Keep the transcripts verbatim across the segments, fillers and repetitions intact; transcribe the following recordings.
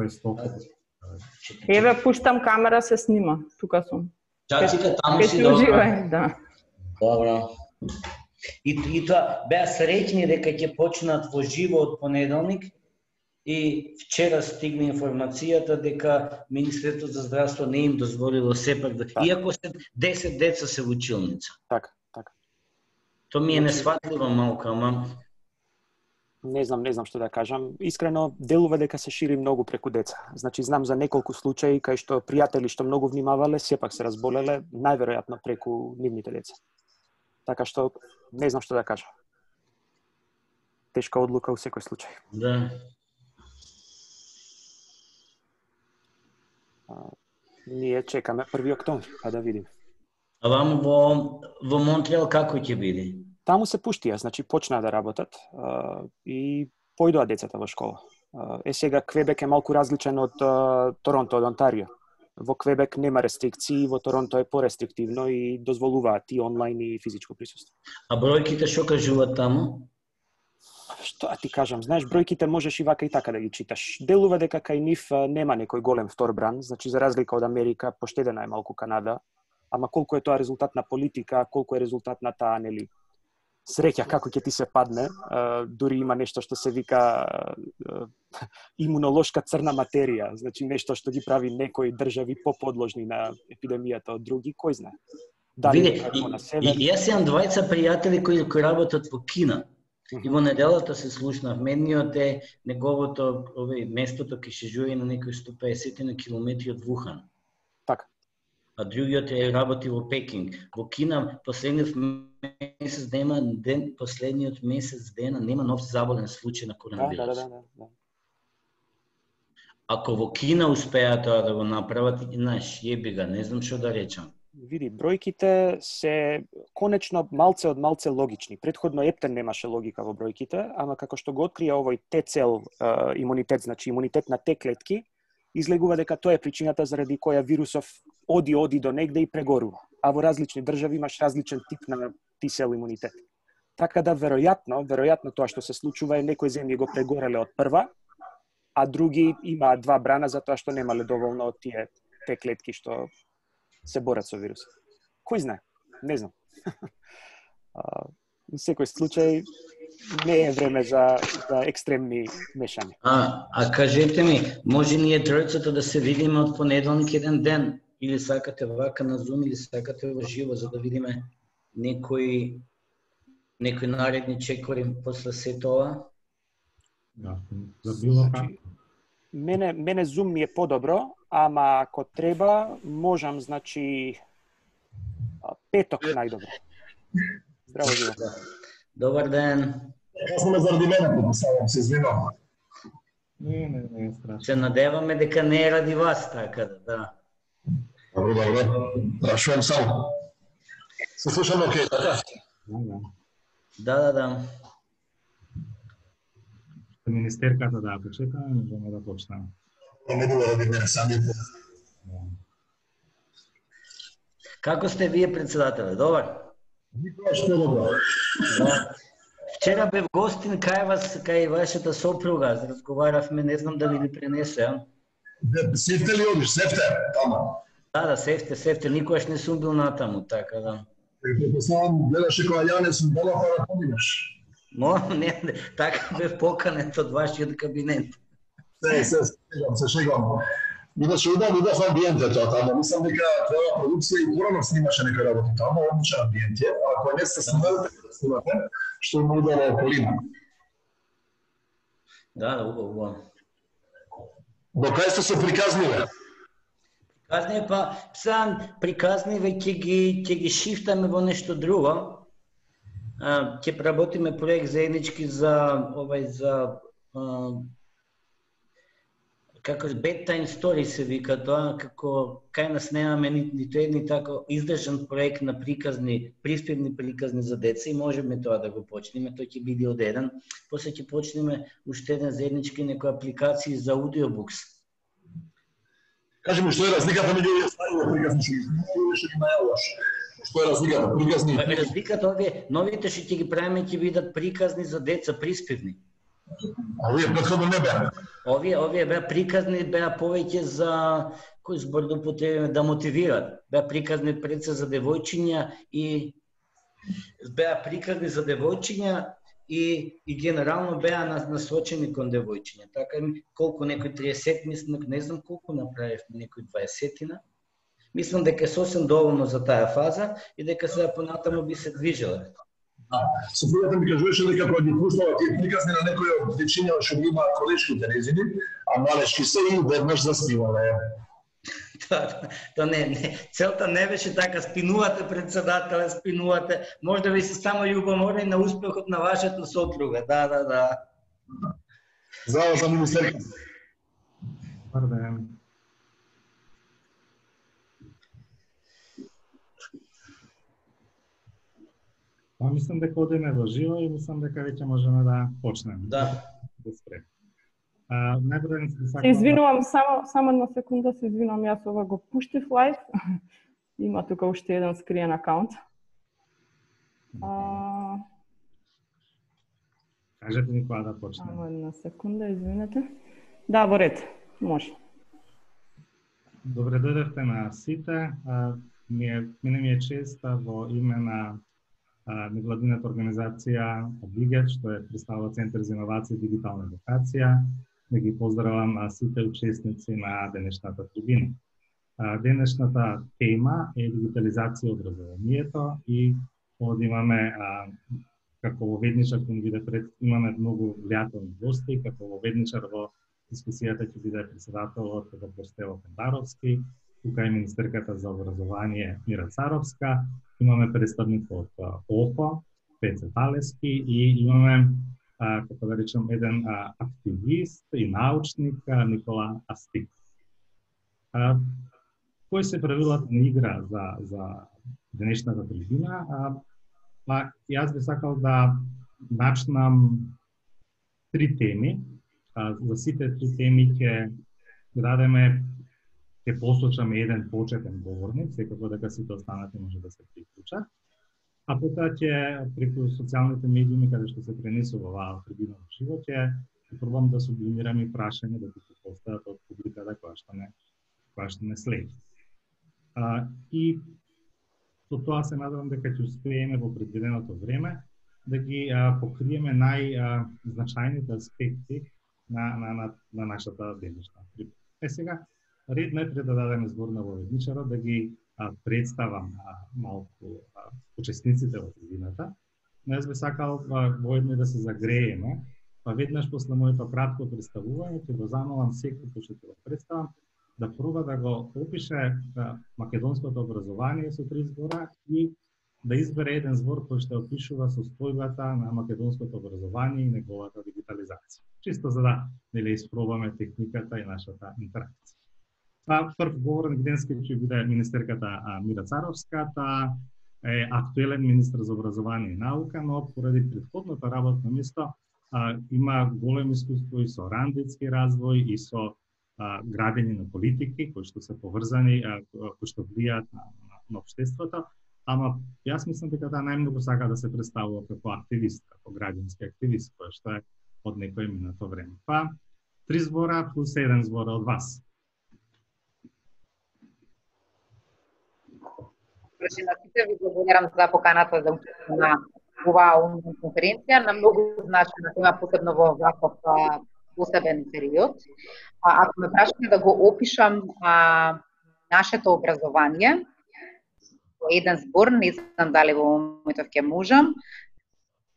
кој е стокот. Еве, пуштам камера, се снима. Тука сум. Чачика, таму си добро. Да. Добро. И, и тоа, беа среќни дека ќе почнат во живо од понеделник и вчера стигна информацијата дека Министерството за здравство не им дозволило сепак да... Так. Иако се десет деца се во училница. Така, така. Тоа ми е несватливо малку, ама... Не знам, не знам што да кажам. Искрено, делува дека се шири многу преку деца. Значи, знам за неколку случаи кај што пријатели што многу внимавале, сепак се разболеле, најверојатно преку нивните деца. Така што, не знам што да кажам. Тешка одлука во секој случај. Да. А, ние чекаме први октомври, па да видим. А вам во, во Монтреал како ќе биде? Таму се пуштија, значи почнаа да работат а, и појдоа децата во школа. А, е сега Квебек е малку различен од а, Торонто, од Онтарио. Во Квебек нема рестрикции, во Торонто е порестриктивно и дозволуваат и онлайн и физичко присуство. А бројките што кажуваат таму? Што ти кажам, знаеш, бројките можеш и вака и така да ги читаш. Делува дека кај нив нема некој голем втор бран, значи за разлика од Америка, поштедена е малку Канада, ама колку е тоа резултат на политика, колку е резултат на таа, нели, среќа како ќе ти се падне, а, дури има нешто што се вика а, имунолошка црна материја, значи нешто што ги прави некои држави поподложни на епидемијата од други, кој знае. Дали Виде, и, на север... и, јас имам двајца пријатели кои, кои работат во Кина. И во неделата се слушнав, медниот е неговото овој местото кај се живее на некои сто и песет километри од Вухан. Така. А другиот е работи во Пекинг. Во Кина последниот месец дена, ден, последниот месец дена нема нов заболен случај на коронавирус. Да, да, да, да. Ако во Кина успеа тоа да го направат, знаеш, јебига, не знам што да речам. Види, бројките се конечно малце од малце логични. Претходно ептен немаше логика во бројките, ама како што го открија овој Т-цел uh, имунитет, значи имунитет на Т-клетки, излегува дека тоа е причината заради која вирусов оди оди до негде и прегорува. А во различни држави имаш различен тип на Т-цел имунитет. Така да веројатно, веројатно тоа што се случува е некои земји го прегореле од прва, а други имаат два брана затоа што немале доволно од тие Т-клетки што се борат со вирусот. Кој знае? Не знам. Во секој случај не е време за, за екстремни мешања. А, а кажете ми, може ние тројцата да се видиме од понеделник еден ден? Или сакате вака на Zoom, или сакате во живо, за да видиме некои, некои наредни чекори после се тоа? Да, за било како. Мене, мене Zoom ми е подобро, ама ако треба, можам, значи, петок најдобро. Здраво, живо. Добар ден. Касно ме заради мене подписавам, се извинувам. Не, не, не е страшно. Се надеваме дека не е ради вас, така да, да. Добро, добро. Прашувам само. Се слушаме окей, така? Да, да, да. Министерката да почекаме, можеме да почнеме. Не било ради мене, сами по. Како сте вие, председателе? Добар? Никоја што добро. Да. Вчера бев гостин кај вас, кај вашата сопруга, разговаравме, не знам дали ви пренесе, а? Севте ли одиш? Севте? Тама. Да, да, севте, севте, никогаш не сум бил натаму, така да. Предпоставам, гледаше која Јане сум била пара поминеш. Мо, не, не, така бев поканет од вашиот кабинет. Се, се, се шегам, се шегам. Иначе удав, удав амбиенте тоа тамо. Мислам дека твоја продукција и порано снимаше некој работи тамо, одличен амбиент е, а ако не сте снималите, да снимате, што има удава околина. Да, да, убаво, убаво. До кај сте се приказниве? Приказниве, па, сам приказниве ќе ги, ќе ги шифтаме во нешто друго. Ќе работиме проект заеднички за овај за а, како bedtime story се вика тоа, како кај нас немаме ниту едни тако издржан проект на приказни, приспевни приказни за деца и можеме тоа да го почнеме, тој ќе биде од еден. После ќе почнеме уште еден заеднички некои апликации за аудиобукс. Кажи ми што е разликата меѓу овие стари приказни што ги најаваш? Што е разликата? Приказни? Разликата овие новите што ќе ги правиме ќе бидат приказни за деца, приспевни. А овие претходно не беа. Овие овие беа приказни, беа повеќе за кој збор да употребиме, да мотивираат. Беа приказни пред се за девојчиња и беа приказни за девојчиња и и генерално беа насочени кон девојчиња. Така колку некој триесет, мислам, не знам колку направивме, некој дваесетина. Мислам дека е сосем доволно за таа фаза и дека сега понатаму би се движела. Сопругата ми кажуваше дека кога ги пуштава тие приказни на некој од дечиња што ги има колешките незини, а малешки се и веднаш заспивале. Тоа не, не, целта не беше така, спинувате председателе, спинувате, може да ви се само љубоморни на успехот на вашата сопруга, да, да, да. Здраво за министерка. Добар ден. Па мислам дека одиме во живо и мислам дека веќе можеме да почнеме. Да. Да спрем. А, најпред се Се извинувам, само само една секунда, се извинувам, јас ова го пуштив лайв. Има тука уште еден скриен акаунт. А... Кажете ни кога да почнеме. Само една секунда, извинете. Да, во ред, може. Добре дојдовте на сите. А, ми е, мене ми е чест во име на невладината организација Обигет, што е представува Центар за инновација и дигитална едукација, да ги поздравам сите учесници на денешната трибина. Денешната тема е дигитализација образованието и овде имаме како воведничар кој ни биде пред, имаме многу влијателни гости, како воведничар во дискусијата ќе биде председателот доктор Стево Пендаровски, тука е министерката за образование Мира Царовска, имаме представник од ОФО, Пеце Талески и имаме, а, како да речем, еден а, активист и научник а, Никола Астик. А, кои се правилата на игра за, за денешната трибина? А, па, јас би сакал да начнам три теми. А, за сите три теми ќе дадеме ќе послушаме еден почетен говорник, секако дека сите останати може да се приклучат. А потоа ќе преку социјалните медиуми каде што се пренесува оваа трибина во живо, ќе пробам да сублимирам и прашање да ги постават од публиката која што не која што не следи. А, и со тоа се надевам дека ќе успееме во предвиденото време да ги а, покриеме најзначајните аспекти на на на, на нашата денешна трибина. Е сега ред најпред да дадеме збор на воведничарот, да ги а, представам а, малку а, учесниците во трибината. Но јас би сакал воедно да се загрееме, па веднаш после моето кратко представување ќе го замолам секој кој што ќе го представам да проба да го опише а, македонското образование со три збора и да избере еден збор кој што опишува состојбата на македонското образование и неговата дигитализација. Чисто за да нели испробаме техниката и нашата интеракција. Па прв говорник денеска ќе биде министерката Мира Царовска, таа е актуелен министр за образование и наука, но поради претходното работно место а, има големо искуство и со рандетски развој и со а, градење на политики кои што се поврзани, а, кои што влијаат на, на, на општеството. Ама јас мислам дека таа најмногу сака да се представува како активист, како граѓански активист, кој што е од некој минато време. Па три збора плюс еден збора од вас. На сите ви благодарам за поканата за учество на оваа онлайн конференција, на многу значајна тема, посебно во ваков посебен период. А, ако ме прашате да го опишам а, нашето образование, во еден збор, не знам дали во моментов ќе можам,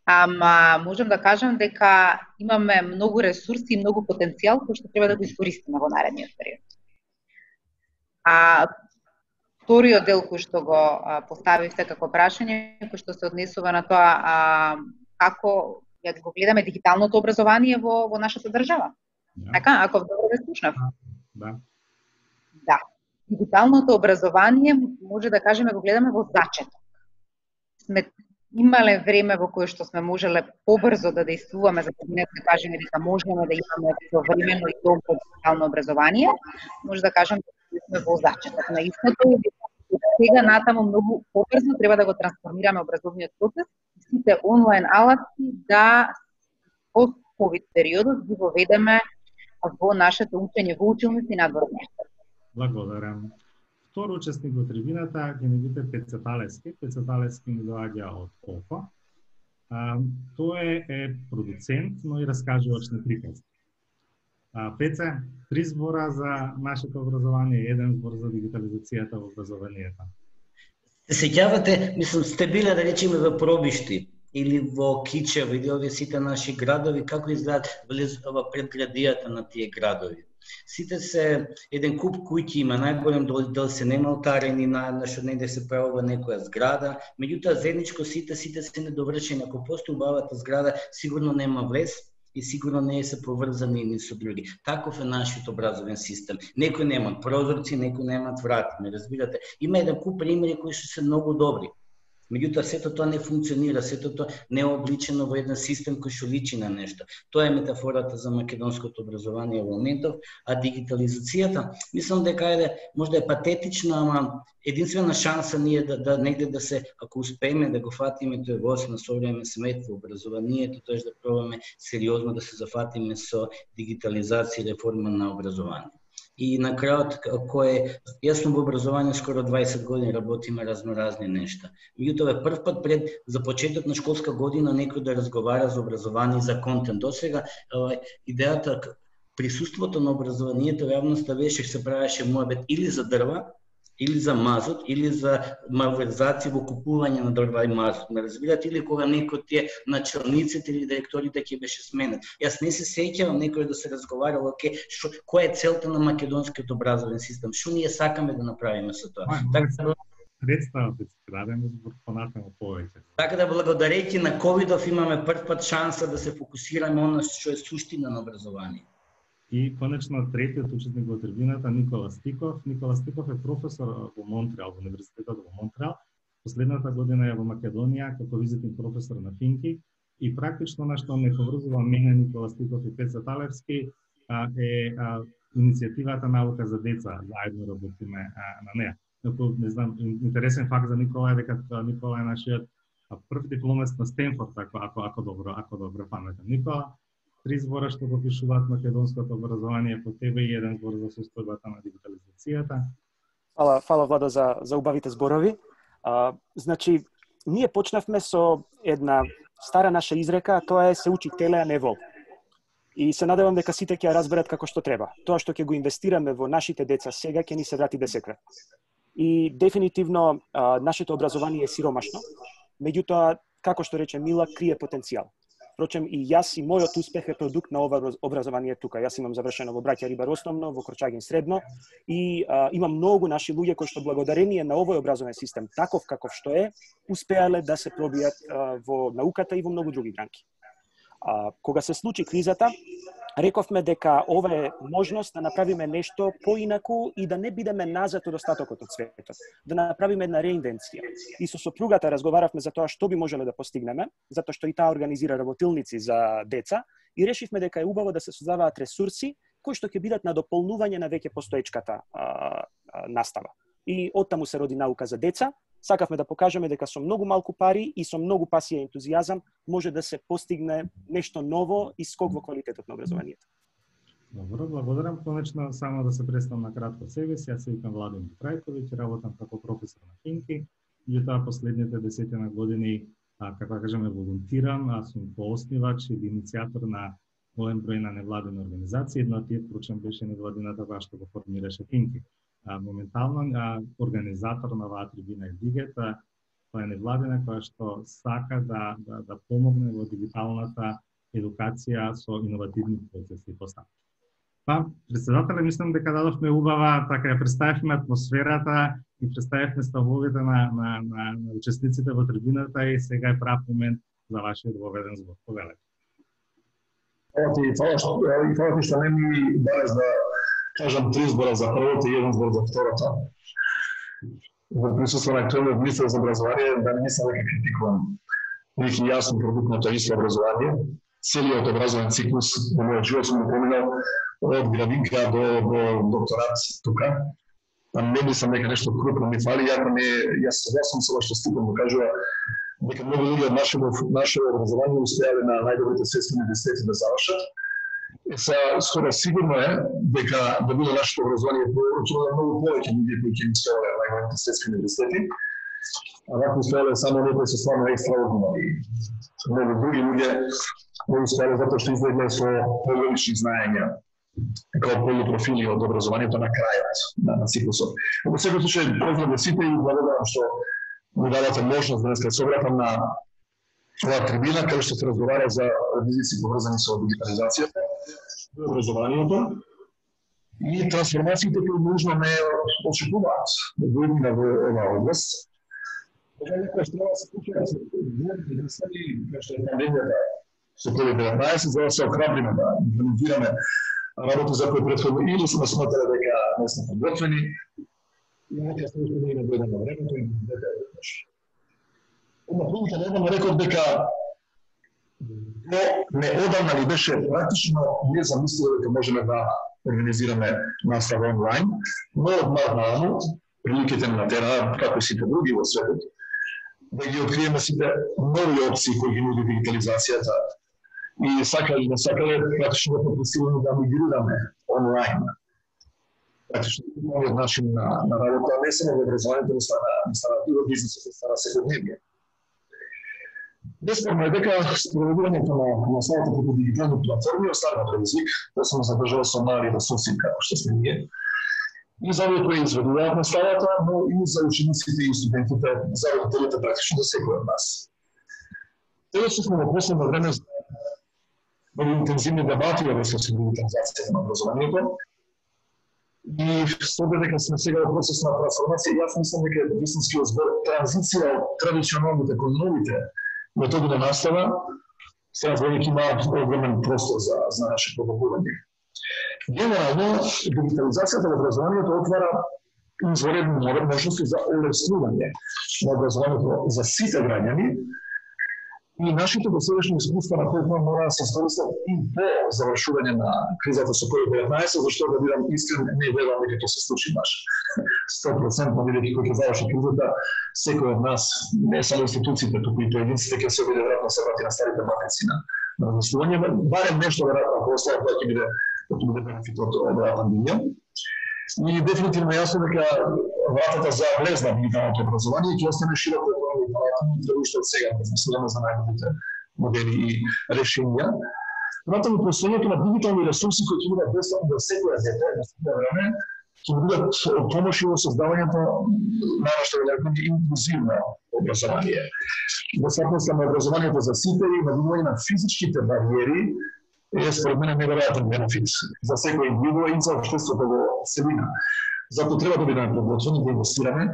ама можам да кажам дека имаме многу ресурси и многу потенцијал кој што треба да го искористиме во наредниот период. А вториот дел кој што го а, поставивте како прашање, кој што се однесува на тоа а, како ја го гледаме дигиталното образование во, во нашата држава. Да. Така, ако добро ве слушнав. Да. Да. Дигиталното образование, може да кажеме, го гледаме во зачеток. Сме имале време во кое што сме можеле побрзо да действуваме, за да кажеме дека можеме да имаме времено и добро дигитално образование, може да кажем дека сме во зачеток на истото и сега натаму многу побрзо треба да го трансформираме образовниот процес и сите онлайн алати да ковид периодот ги воведеме во нашето учење во училници и надвор од нештата. Благодарам. Втор учесник во трибината ќе ни биде Пеце Талевски. Пеце Талевски ни доаѓа од Колфа. А, тој е продуцент, но и раскажувач на приказки. А, Пеце, три збора за нашето образование, еден збор за дигитализацијата во образованието. Се сеќавате, мислам, сте биле, да речеме, во Пробишти или во Кичево или овие сите наши градови, како изгледаат во предградијата на тие градови. Сите се еден куп куќи има, најголем дел, дел се нема отарени, на што негде се правува некоја зграда, меѓутоа заедничко сите сите се недовршени. Ако постои убавата зграда, сигурно нема влез и сигурно не се поврзани едни со други. Таков е нашиот образовен систем. Некои немаат прозорци, некои немаат врати, ме разбирате. Има еден куп примери кои што се многу добри. Меѓутоа, сето тоа не функционира, сето тоа не е обличено во еден систем кој што личи на нешто. Тоа е метафората за македонското образование во моментов, а дигитализацијата, мислам дека е можда е патетична, ама единствена шанса ние да, да негде да се, ако успееме да го фатиме тој воз на современ смет во образованието, тоа е да пробаме сериозно да се зафатиме со дигитализација и реформа на образование. И на крајот, кој јас сум во образование скоро дваесет години, работиме разноразни нешта. Меѓутоа е прв пат пред за почеток на школска година некој да разговара за образование и за контент. Досега идејата присуството на образованието во јавноста беше се правеше муабет или за дрва, или за мазот, или за малверзација во купување на дрва и мазот. Ме разбирате, или кога некој од тие началниците или директорите ќе беше сменет. Јас не се сеќавам некој да се разговарало, оке, шо, која е целта на македонскиот образовен систем, што ние сакаме да направиме со тоа. Така да представате се дадеме збор понатаму повеќе. Така да благодарејќи на ковидов имаме прв пат шанса да се фокусираме на што е суштина на образование. И конечно третиот учесник во трибината Никола Стиков. Никола Стиков е професор во Монтреал, во универзитетот во Монтреал. Последната година е во Македонија како визитен професор на финки и практично на што ме поврзува мене Никола Стиков и Пеце Талевски е а, иницијативата Наука за деца, заедно работиме а, на неа. Не знам, интересен факт за Никола е дека Никола е нашиот прв дипломец на Стенфорд, ако ако ако добро, ако добро паметам. Никола, три збора што го пишуваат македонското образование по тебе и еден збор за состојбата на дигитализацијата. Фала, фала Владо за за убавите зборови. А, значи, ние почнавме со една стара наша изрека, тоа е се учи теле, а не вол. И се надевам дека сите ќе ја разберат како што треба. Тоа што ќе го инвестираме во нашите деца сега ќе ни се врати десеткрат. И дефинитивно а, нашето образование е сиромашно, меѓутоа, како што рече Мила, крие потенцијал. Впрочем, и јас и мојот успех е продукт на ова образование тука. Јас имам завршено во Браќа Рибар основно, во Крчагин средно и а, имам многу наши луѓе кои што благодарение на овој образовен систем, таков каков што е, успеале да се пробијат а, во науката и во многу други гранки. А, кога се случи кризата, рековме дека ова е можност да направиме нешто поинаку и да не бидеме назад од остатокот од светот, да направиме една реинвенција. И со сопругата разговаравме за тоа што би можеле да постигнеме, затоа што и таа организира работилници за деца и решивме дека е убаво да се создаваат ресурси кои што ќе бидат на дополнување на веќе постоечката а, а, настава. И оттаму се роди Наука за деца. Сакавме да покажеме дека со многу малку пари и со многу пасија и ентузијазам може да се постигне нешто ново и скок во квалитетот на образованието. Добро, благодарам. Конечно, само да се представам на кратко себе си. Јас се викам Владимир Трајковиќ, работам како професор на финки. И тоа последните десетина години, а, како да кажеме, волонтирам, а сум пооснивач или иницијатор на голем број на невладени организации. Една од тие, впрочем, беше невладината која што го формираше финки. А, моментално а, организатор на оваа трибина е Дигет, тоа е невладина која што сака да, да, да помогне во дигиталната едукација со иновативни процеси и поставки. Па, председателе, мислам дека дадовме убава, така ја представивме атмосферата и представивме ставовите на, на, на, на учесниците во трибината и сега е прав момент за вашиот воведен збор. Повелете. Фала ти, фала што, и фала ти што не ми бараш да кажам три збора за првото и еден збор за второто. Во присуство на актуелниот министер за образование, да не мислам дека критикувам нити јас сум продукт на тоа исто образование. Целиот образовен циклус во мојот живот сум го поминал од градинка до, до докторат тука. Па не мислам дека нешто крупно ми фали, јако не, јас согласам со ова што Стиков го кажува, дека многу луѓе од нашето наше образование успеале на најдобрите светски универзитети да завршат. Е, са, скоро сигурно е дека да биде нашето образование проучено многу повеќе луѓе кои ќе успеале на најдобрите светски универзитети, а вака успеале само некои со стварно екстраординари. Многу други луѓе не успеале затоа што излегле со поголични знаења како полупрофили од образованието на крајот на, на циклусот. Во секој случај, поздравам сите и благодарам што ми дадете можност да се собратам на оваа трибина каде што се разговара за ризици поврзани со дигитализацијата, образованието и трансформациите кои нужно не очекуваат да дојдат во оваа област. Ова некоја што треба да се случува се единствени кај што е пандемијата со ковид деветнаесет, за да се охрабриме да имплементираме работи за кои претходно или сме сметале дека не сме подготвени, и нека се уште не дојде на времето и дека е веднаш. Една прилика недавно реков дека неодамна ни беше практично незамисливо дека можеме да организираме настава онлайн, но од март нааму, приликите на тера, како и сите други во светот, да ги откриеме сите нови опции кои ги нуди дигитализацијата и сакали или не сакале, практично да попресилено да мигрираме онлайн. Практично новиот начин на, на работа, не само во образованието, не стана, не стана и во бизнесот, не стана секојдневие. Бесспорно е дека спроведувањето на наставата преку дигитални платформи остана предизвик, да се задржува со мали ресурси како што сме ние. И за овие кои изведуваат наставата, но и за учениците и студентите, за родителите практично за секој од нас. Сега што сме во последно време многу интензивни дебати во врска со дигитализацијата на образованието. И со дека сме сега во процес на трансформација, јас мислам дека е вистинскиот збор транзиција од традиционалните кон новите методи на настава, сега веќе има огромен простор за, за наше подобрување. Генерално, дигитализацијата во образованието отвара изваредни можности за олеснување на образованието за сите граѓани, и нашите досегашни искуства на кои мора да се скористат и по завршување на кризата со ковид деветнаесет, зашто да бидам искрен, не верувам дека ќе се случи баш сто проценти, бидејќи кога ќе заврши кризата, секој од нас, не само институциите, туку и поединците ќе се обиде веројатно се врати на старите матици на размислување, барем нешто веројатно ако остава тоа ќе биде тоа ќе биде бенефит од оваа пандемија. И дефинитивно јасно дека вратата за влез на дигиталното образование ќе остане широко отворена, треба уште од сега размислуваме за најдобрите модели и решенја. Натаму постојањето на дигитални ресурси кои ќе бидат бесплатни за секој дете на секој време, ќе бидат помоши во создавањето на нашето инклузивно образование. Достапноста на образованието за сите и надвивање на физичките бариери е според мене неверојатен бенефит за секој индивидуум и за општеството во целина. Затоа треба да бидеме подготвени да инвестираме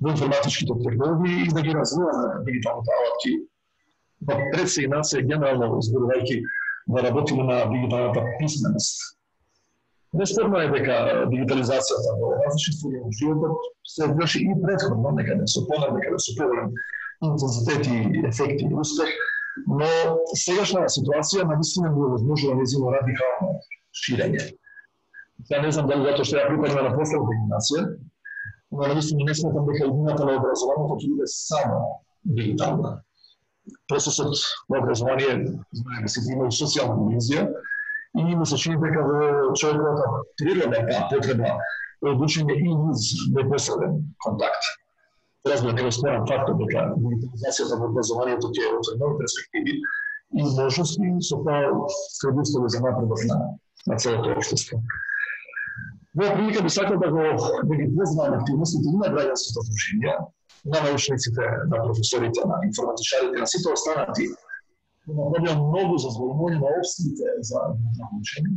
во информатичките технологии и да ги развиваме дигиталните алатки. Но пред се и нас е генерално зборувајќи да работиме на дигиталната писменост. Неспорно е дека дигитализацијата во различни сфери на животот се врши и претходно, некаде со понад, некаде со поголем интензитет и ефекти и успех, но сегашна ситуација навистина би овозможила нејзино радикално ширење. Ја не знам дали затоа што ја припадам на последната генерација, но навистина не сметам дека идејата на образованието ќе биде само дигитална. Процесот на образование, знаеме се, има и социјална dimenzија и ми се чини дека во човековата природа е потреба од учење и низ непосреден контакт. Разбира, не го спорам фактот дека дигитализацијата во образованието ќе отвори нови перспективи и можности со тоа предуслови за напредок на, на целото општество. Во прилика би сакал да го да ги познавам активностите и на граѓанските дружинија, на научниците, на професорите, на информатичарите, на сите останати, да направиам многу за зголемување на опциите за учење.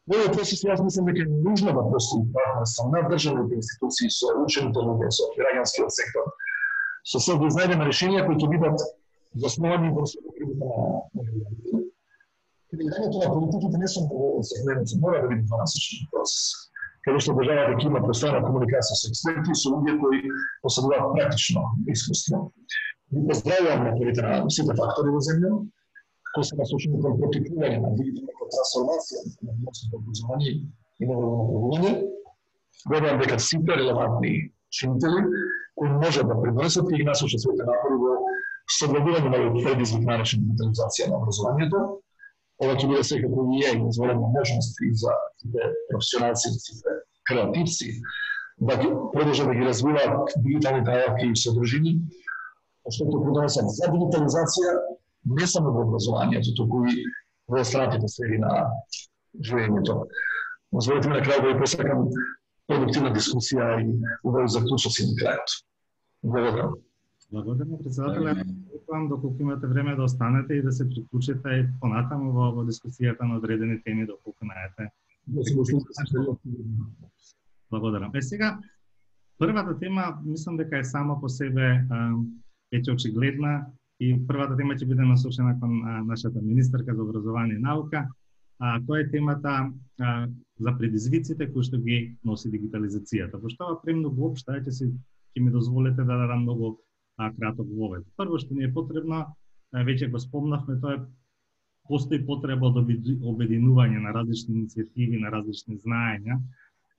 Во овој процес јас мислам дека е нужно да постои партнерство на државните институции со учените луѓе, со граѓанскиот сектор, со се да изнајдеме решенија кои ќе бидат засновани во содржината на граѓаните. Креирањето на политиките не само во сегментот, мора да биде дванасечен процес, каде што државата ќе има постојана комуникација со експерти и со луѓе кои поседуваат практично искуство. Ви поздравувам наporите на сите фактори во земја, кои се насочени кон поттикнување на дигиталната трансформација на научното образование и ново направување. Верувам дека сите релевантни чинители кои може да придонесат и насочат своите напори во согледување на овој предизвик наречен дигитализација на образованието. Ова ќе биде секако и е изволена можност и за сите професионалци, сите креативци, да ги продолжат да ги развиваат дигиталните алатки и содржини, што ќе придонесат за дигитализација не само во образованието, туку и во останатите сфери на живењето. Позволете ми на крај да ви посакам продуктивна дискусија и убави заклучоци на крајот. Благодарам. Благодарам, председателе. Очекувам доколку имате време да останете и да се приклучите и понатаму во, во дискусијата на одредени теми доколку наете. Благодарам. Е сега, првата тема, мислам дека е само по себе веќе очигледна и првата тема ќе биде насочена кон нашата министерка за образование и наука. А, тоа е темата а, за предизвиците кои што ги носи дигитализацијата. Пошто ова премногу општа, ќе си ќе ми дозволите да дадам многу а, краток вовед. Прво што ни е потребно, а, веќе го спомнавме, тоа е постои потреба од обединување на различни иницијативи, на различни знаења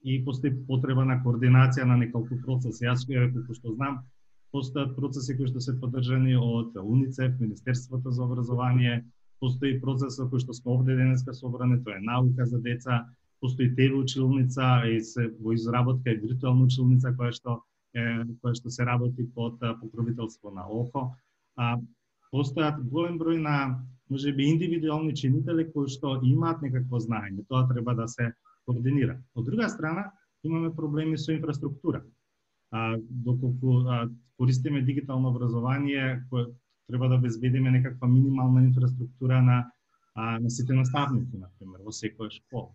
и постои потреба на координација на неколку процеси. Јас колку што знам, постојат процеси кои што се поддржани од УНИЦЕФ, Министерството за образование, постои процес кој што сме овде денеска собрани, тоа е наука за деца, постои телеучилница и се во изработка е виртуелна училница која што е, која што се работи под покровителство на ОХО. А постојат голем број на можеби индивидуални чинители кои што имаат некакво знаење, тоа треба да се координира. Од друга страна, имаме проблеми со инфраструктура. А доколку а, користиме дигитално образование, кое треба да обезбедиме некаква минимална инфраструктура на, а, на сите наставници, например, во секоја школа.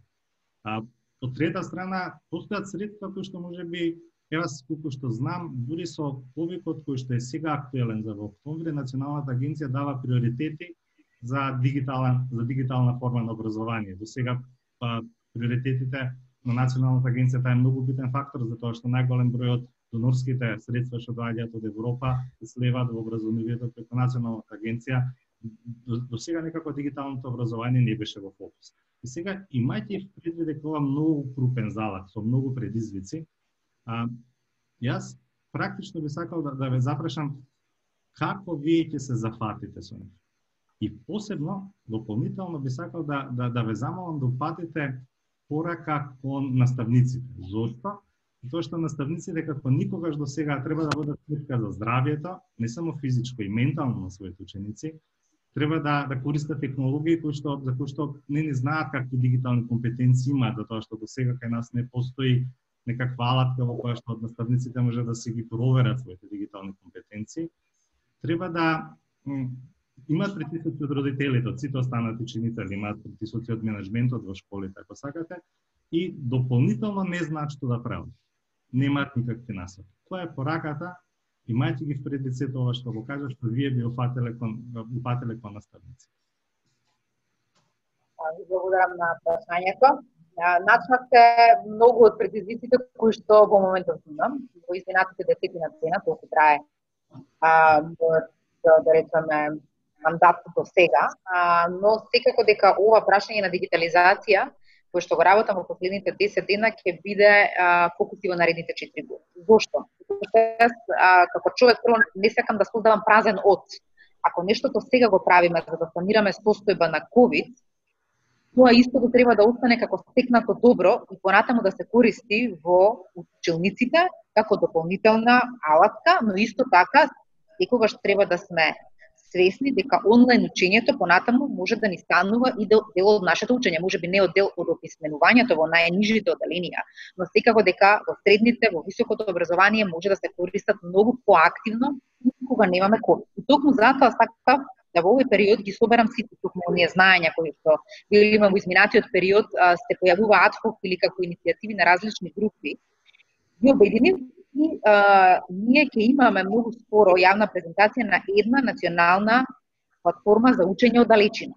А, од трета страна, постојат средства кои што можеби, ева колку што знам, дури со повикот кој што е сега актуелен за во октомври, Националната агенција дава приоритети за дигитална, за дигитална форма на образование. До сега па, приоритетите на Националната агенција таа е многу битен фактор, затоа што најголем број од донорските средства што доаѓаат од Европа се сливаат во образованието преку Националната агенција. До, до сега некако дигиталното образование не беше во фокус. И сега, имајќи предвид дека ова многу крупен залак со многу предизвици, а, јас практично би сакал да, да ве запрашам како вие ќе се зафатите со нив. И посебно, дополнително би сакал да, да, да ве замолам да упатите порака кон наставниците. Зошто? Тоа што наставниците како никогаш до сега треба да водат сметка за здравјето, не само физичко и ментално на своите ученици, треба да да користат технологии кои што за кои што не не знаат какви дигитални компетенции имаат, затоа што до сега кај нас не постои некаква алатка во која што од наставниците може да се ги проверат своите дигитални компетенции. Треба да имаат притисоци од родителите, од сите останати ученици, имаат притисоци од менеджментот во школите, ако сакате, и дополнително не знаат што да прават. Немаат никакви насоки. Која е пораката? Имајте ги впредвид сето ова што го кажа, што вие би упателе кон, упателе кон наставници. Благодарам на прашањето. Начнавте многу од предизвиците кои што во моментот имам. Во изминатите десетина година, толку трае а, да, да речеме мандатот до сега, а, но секако дека ова прашање на дигитализација кој што го работам во последните десет дена ќе биде а, фокуси во наредните четири години. Зошто? Јас а, како човек прво не сакам да создавам празен од. Ако нештото сега го правиме за да санираме состојба на ковид, тоа истото треба да остане како стекнато добро и понатаму да се користи во училниците како дополнителна алатка, но исто така секогаш треба да сме свесни дека онлайн учењето понатаму може да ни станува и дел, дел од нашето учење, можеби не од дел од описменувањето во најнижите одделенија, но секако дека во средните, во високото образование може да се користат многу поактивно кога немаме ковид. И токму затоа сакав да во овој период ги соберам сите токму оние знаења кои што били во изминатиот период а, се појавува адхок или како иницијативи на различни групи, ги обединим и а, ние ќе имаме многу скоро јавна презентација на една национална платформа за учење од далечина.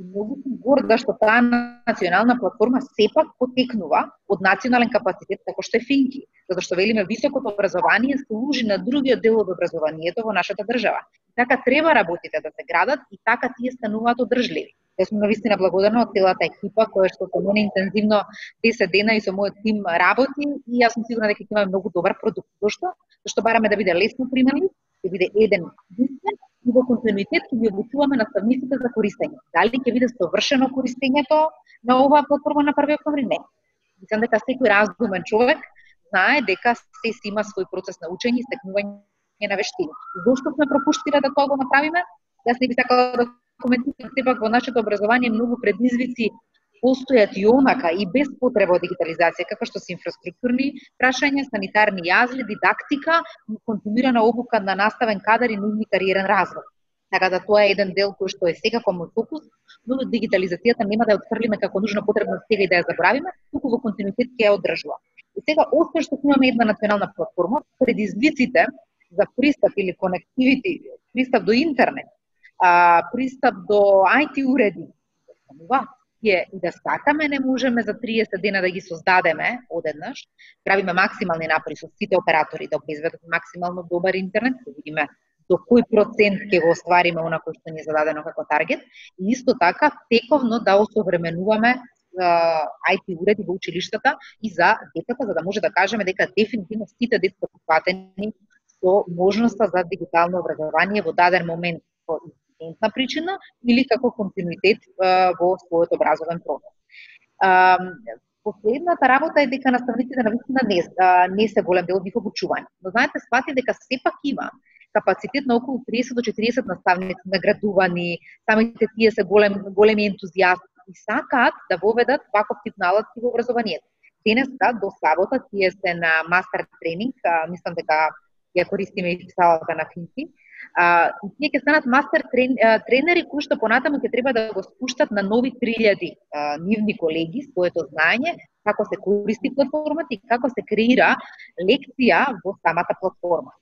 И многу сум горда што таа национална платформа сепак потекнува од национален капацитет како што е Финки, затоа што велиме високото образование служи на другиот дел од образованието во нашата држава. Така треба работите да се градат и така тие стануваат одржливи. Јас сум навистина благодарна од целата екипа која што со мене интензивно десет дена и со мојот тим работи и јас сум сигурна дека ќе имаме многу добар продукт. Зошто? Зашто бараме да биде лесно применлив, ќе биде еден единствен и во континуитет ќе ги обучуваме наставниците за користење. Дали ќе биде совршено користењето на оваа платформа на први октомври? Не. Мислам дека секој разумен човек знае дека се си има свој процес на учење и стекнување на вештини. Зошто сме пропуштиле да тоа го направиме? Јас не би сакала да коментирам, сепак во нашето образование многу предизвици постојат и онака и без потреба од дигитализација, како што се инфраструктурни прашања, санитарни јазли, дидактика, континуирана обука на наставен кадар и нивни кариерен развој. Така да тоа е еден дел кој што е секако мој фокус, но дигитализацијата нема да ја отфрлиме како нужна потребна сега и да ја забравиме, туку во континуитет ќе ја одржува. И сега, освен што имаме една национална платформа, предизвиците за пристап или конективити, пристап до интернет, а, пристап до ай ти уреди, и да сакаме, не можеме за триесет дена да ги создадеме одеднаш. Правиме максимални напори со сите оператори да обезбедат максимално добар интернет, да видиме до кој процент ќе го оствариме она кој што ни е зададено како таргет, и исто така тековно да осовременуваме ай ти уреди во училиштата и за децата, за да може да кажеме дека дефинитивно сите деца се фатени со можноста за дигитално образование во даден момент по инцидентна причина или како континуитет во својот образовен процес. Последната работа е дека наставниците навистина не, не се голем дел од нив обучување. Но знаете, свати дека сепак има капацитет на околу триесет до четириесет наставници наградувани, самите тие се голем, големи ентузијасти и сакаат да воведат ваков тип наладки во образованието. Денеска до сабота тие се на мастер тренинг, мислам дека ја користиме и салата на Финки. А, тие ќе станат мастер трен, тренери кои што понатаму ќе треба да го спуштат на нови три илјади а, нивни колеги своето знаење, како се користи платформата и како се креира лекција во самата платформа.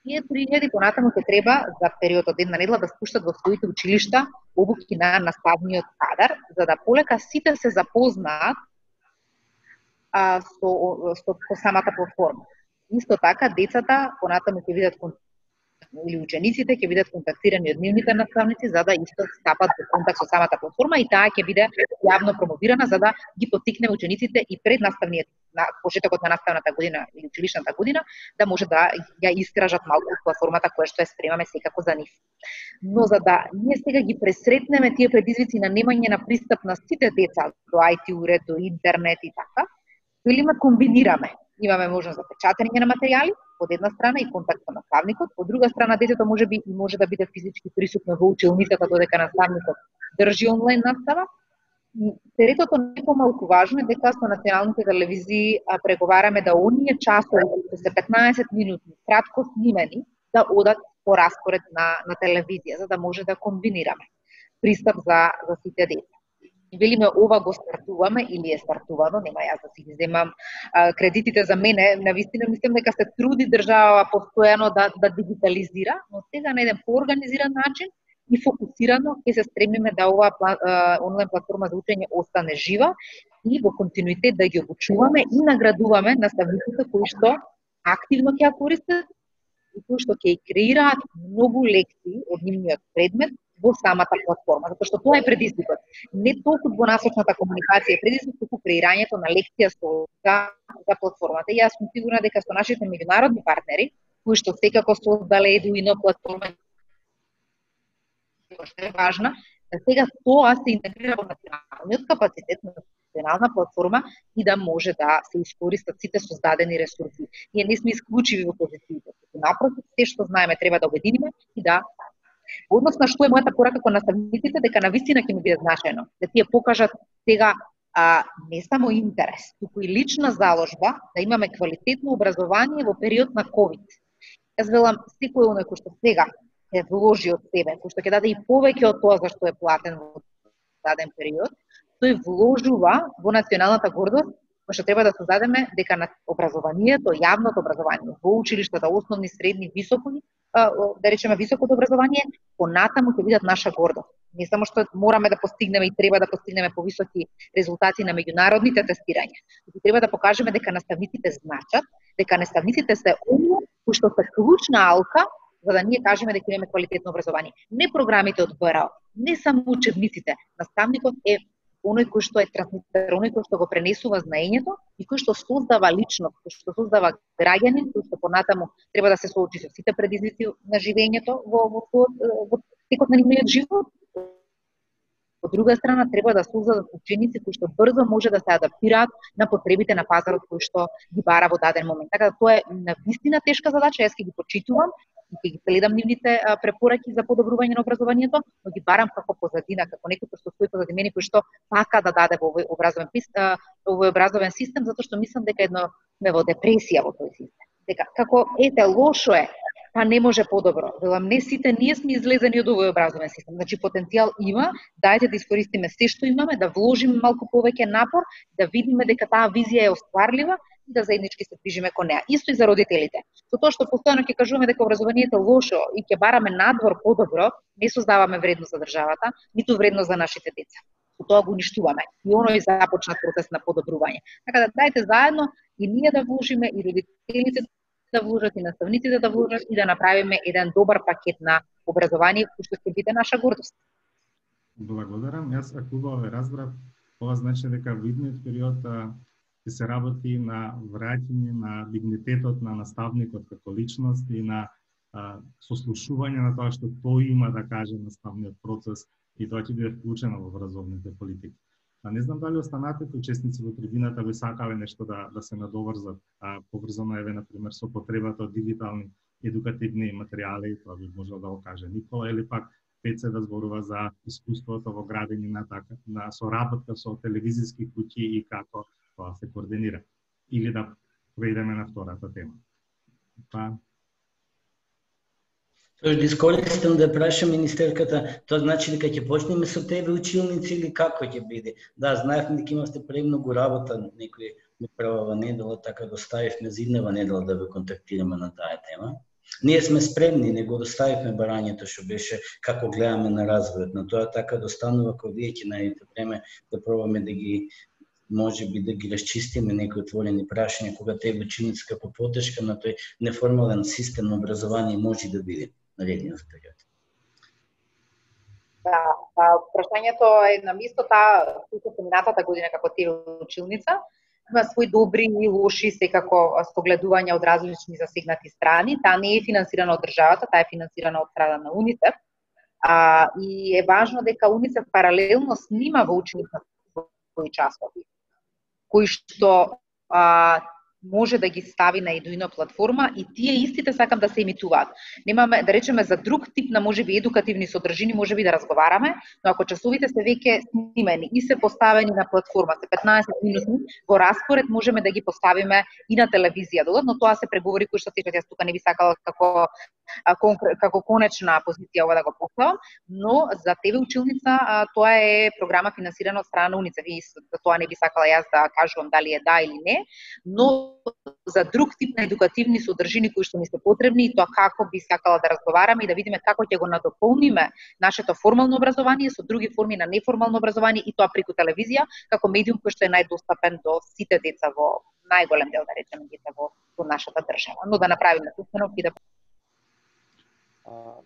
Тие три илјади понатаму ќе треба за период од една недела да спуштат во своите училишта обуки на наставниот кадар, за да полека сите се запознаат а, со, со, со самата платформа. Исто така, децата понатаму ќе видат или учениците ќе бидат контактирани од нивните наставници за да исто стапат во контакт со самата платформа и таа ќе биде јавно промовирана за да ги поттикне учениците и пред наставниот на почетокот на наставната година или училишната година да може да ја искражат малку платформата која што ја спремаме секако за нив. Но за да ние сега ги пресретнеме тие предизвици на немање на пристап на сите деца до ай ти уред, до интернет и така, велиме комбинираме. Имаме можност за печатање на материјали, од една страна и контакт со наставникот, од друга страна детето може би и може да биде физички присутно во училницата додека наставникот држи онлайн настава. Третото не помалку важно е дека со националните телевизии преговараме да оние часови кои се петнаесет минути кратко снимени да одат по распоред на на телевизија за да може да комбинираме пристап за за сите деца. Велиме ова го стартуваме или е стартувано, нема јас да си ги земам а, кредитите за мене, навистина мислам дека се труди држава постојано да да дигитализира, но сега на еден поорганизиран начин и фокусирано ќе се стремиме да оваа онлайн платформа за учење остане жива и во континуитет да ги обучуваме и наградуваме наставниците кои што активно ќе ја користат и кои што ќе креираат многу лекции од нивниот предмет во самата платформа, затоа што тоа е предизвикот. Не толку двонасочната комуникација е предизвик, туку креирањето на лекција со за, за платформата. И јас сум сигурна дека со нашите меѓународни партнери, кои што секако создале Eduino платформа, што е важна, да сега тоа се интегрира во националниот капацитет на национална платформа и да може да се искористат сите создадени ресурси. Ние не сме исклучиви во позициите. Напротив, се што знаеме треба да обединиме и да односно што е мојата порака кон наставниците дека навистина ќе ми биде значајно да тие покажат сега а, не само интерес, туку и лична заложба да имаме квалитетно образование во период на ковид. Јас велам секој оној кој што сега е вложи од себе, кој што ќе даде и повеќе од тоа за што е платен во даден период, тој вложува во националната гордост, кој што треба да создадеме дека на образованието, јавното образование во училиштата, основни, средни, високи, да речеме високото образование, понатаму ќе бидат наша гордост. Не само што мораме да постигнеме и треба да постигнеме повисоки резултати на меѓународните тестирања, туку треба да покажеме дека наставниците значат, дека наставниците се оние кои што се клучна алка за да ние кажеме дека имаме квалитетно образование. Не програмите од БРАО, не само учебниците. Наставникот е оној кој што е трансмитер, оној кој што го пренесува знаењето и кој што создава личност, кој што создава граѓанин, кој што понатаму треба да се соочи со сите предизвици на живењето во во, во, во текот на нивниот живот. Од друга страна, треба да создадат ученици кои што брзо може да се адаптираат на потребите на пазарот кој што ги бара во даден момент. Така да тоа е навистина тешка задача, јас ќе ги почитувам и ќе ги следам нивните препораки за подобрување на образованието, но ги барам како позадина, како некој кој што стои позади мене кој што сака да даде во овој образовен овој образовен систем, затоа што мислам дека едно сме во депресија во тој систем. Дека како ете лошо е, па не може подобро. Велам, не сите ние сме излезени од овој образовен систем. Значи потенцијал има, дајте да искористиме се што имаме, да вложиме малку повеќе напор, да видиме дека таа визија е остварлива и да заеднички се движиме кон неа. Исто и за родителите. Со тоа што постојано ќе кажуваме дека образованието е лошо и ќе бараме надвор подобро, не создаваме вредност за државата, ниту вредност за нашите деца. Со тоа го уништуваме. И оној започнат процес на подобрување. Така да дајте заедно и ние да вложиме и родителите да вложат и наставниците да вложат и да направиме еден добар пакет на образование кој што ќе биде наша гордост. Благодарам. Јас ако убаво разбрав, ова значи дека во идниот период ќе се работи на враќање на дигнитетот на наставникот како личност и на а, сослушување на тоа што тој има да каже наставниот процес и тоа ќе биде вклучено во образовните политики. А не знам дали останатите учесници во трибината би сакале нешто да да се надоврзат, а поврзано еве на пример со потребата од дигитални едукативни материјали, тоа би можел да го каже Никола, или пак Пеце да зборува за искуството во градење на така на соработка со телевизиски куќи и како тоа се координира. Или да преидеме на втората тема. Па Тоа да искористам да прашам министерката, тоа значи дека ќе почнеме со тебе училници или како ќе биде? Да, знаевме дека имавте премногу работа, некој ми правава недела, така го ставивме за иднева недела да ве контактираме на таа тема. Ние сме спремни, не го доставивме барањето што беше како гледаме на развојот, но тоа така достанува кога вие ќе најдете време да пробаме да ги може би да ги расчистиме некои отворени прашања кога тебе ученици како потешка на тој неформален систем на образование може да биде наредниот период. Да, прашањето е на место, таа случи минатата година како ти училница. Има свои добри и лоши секако согледувања од различни засегнати страни. Таа не е финансирана од државата, таа е финансирана од страна на УНИЦЕФ. А, и е важно дека УНИЦЕФ паралелно снима во учениците своји часови, кои што а, може да ги стави на Eduino платформа и тие истите сакам да се емитуваат. Немаме да речеме за друг тип на можеби едукативни содржини, можеби да разговараме, но ако часовите се веќе снимени и се поставени на платформа, се петнаесет минути во распоред, можеме да ги поставиме и на телевизија додатно, тоа се преговори кои што течат. Јас тука не би сакала како како конечна позиција ова да го поставам, но за тебе училница тоа е програма финансирана од страна на УНИЦЕФ. И за тоа не би сакала јас да кажувам дали е да или не, но за друг тип на едукативни содржини кои што ни се потребни и тоа како би сакала да разговараме и да видиме како ќе го надополниме нашето формално образование со други форми на неформално образование и тоа преку телевизија како медиум кој што е најдостапен до сите деца во најголем дел да речеме деца во, во нашата држава. Но да направиме установ и да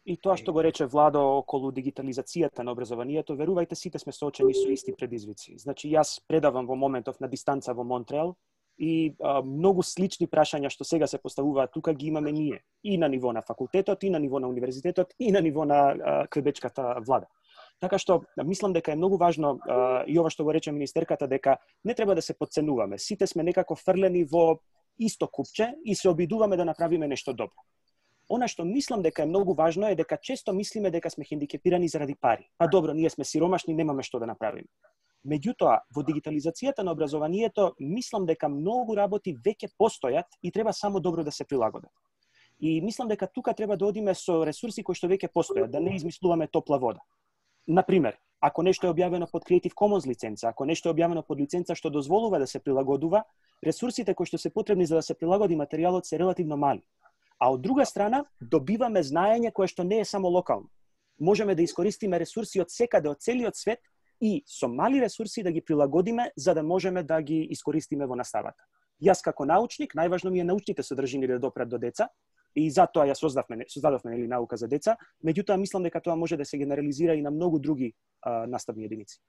И тоа што го рече Владо околу дигитализацијата на образованието, верувајте, сите сме соочени со исти предизвици. Значи, јас предавам во моментов на дистанца во Монтреал и а, многу слични прашања што сега се поставуваат тука ги имаме ние. И на ниво на факултетот, и на ниво на универзитетот, и на ниво на а, квебечката влада. Така што мислам дека е многу важно а, и ова што го рече министерката, дека не треба да се подценуваме. Сите сме некако фрлени во исто купче и се обидуваме да направиме нешто добро. Она што мислам дека е многу важно е дека често мислиме дека сме хендикепирани заради пари. Па добро, ние сме сиромашни, немаме што да направиме. Меѓутоа, во дигитализацијата на образованието, мислам дека многу работи веќе постојат и треба само добро да се прилагодат. И мислам дека тука треба да одиме со ресурси кои што веќе постојат, да не измислуваме топла вода. Например, ако нешто е објавено под Creative Commons лиценца, ако нешто е објавено под лиценца што дозволува да се прилагодува, ресурсите кои што се потребни за да се прилагоди материјалот се релативно мали. А од друга страна, добиваме знаење кое што не е само локално. Можеме да искористиме ресурси од секаде, од целиот свет и со мали ресурси да ги прилагодиме за да можеме да ги искористиме во наставата. Јас како научник, најважно ми е научните содржини да допрат до деца, и затоа ја создавме, создадовме нели наука за деца, меѓутоа мислам дека тоа може да се генерализира и на многу други а, наставни единици.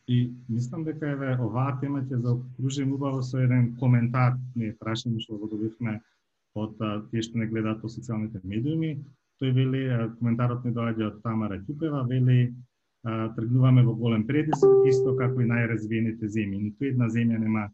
И мислам дека еве оваа тема ќе заокружим убаво со еден коментар, ние прашање што го добивме од тие што не гледаат по социјалните медиуми. Тој вели, коментарот ни доаѓа од Тамара Ќупева, вели тргнуваме во голем предизвик, исто како и најразвиените земји. Ниту една земја нема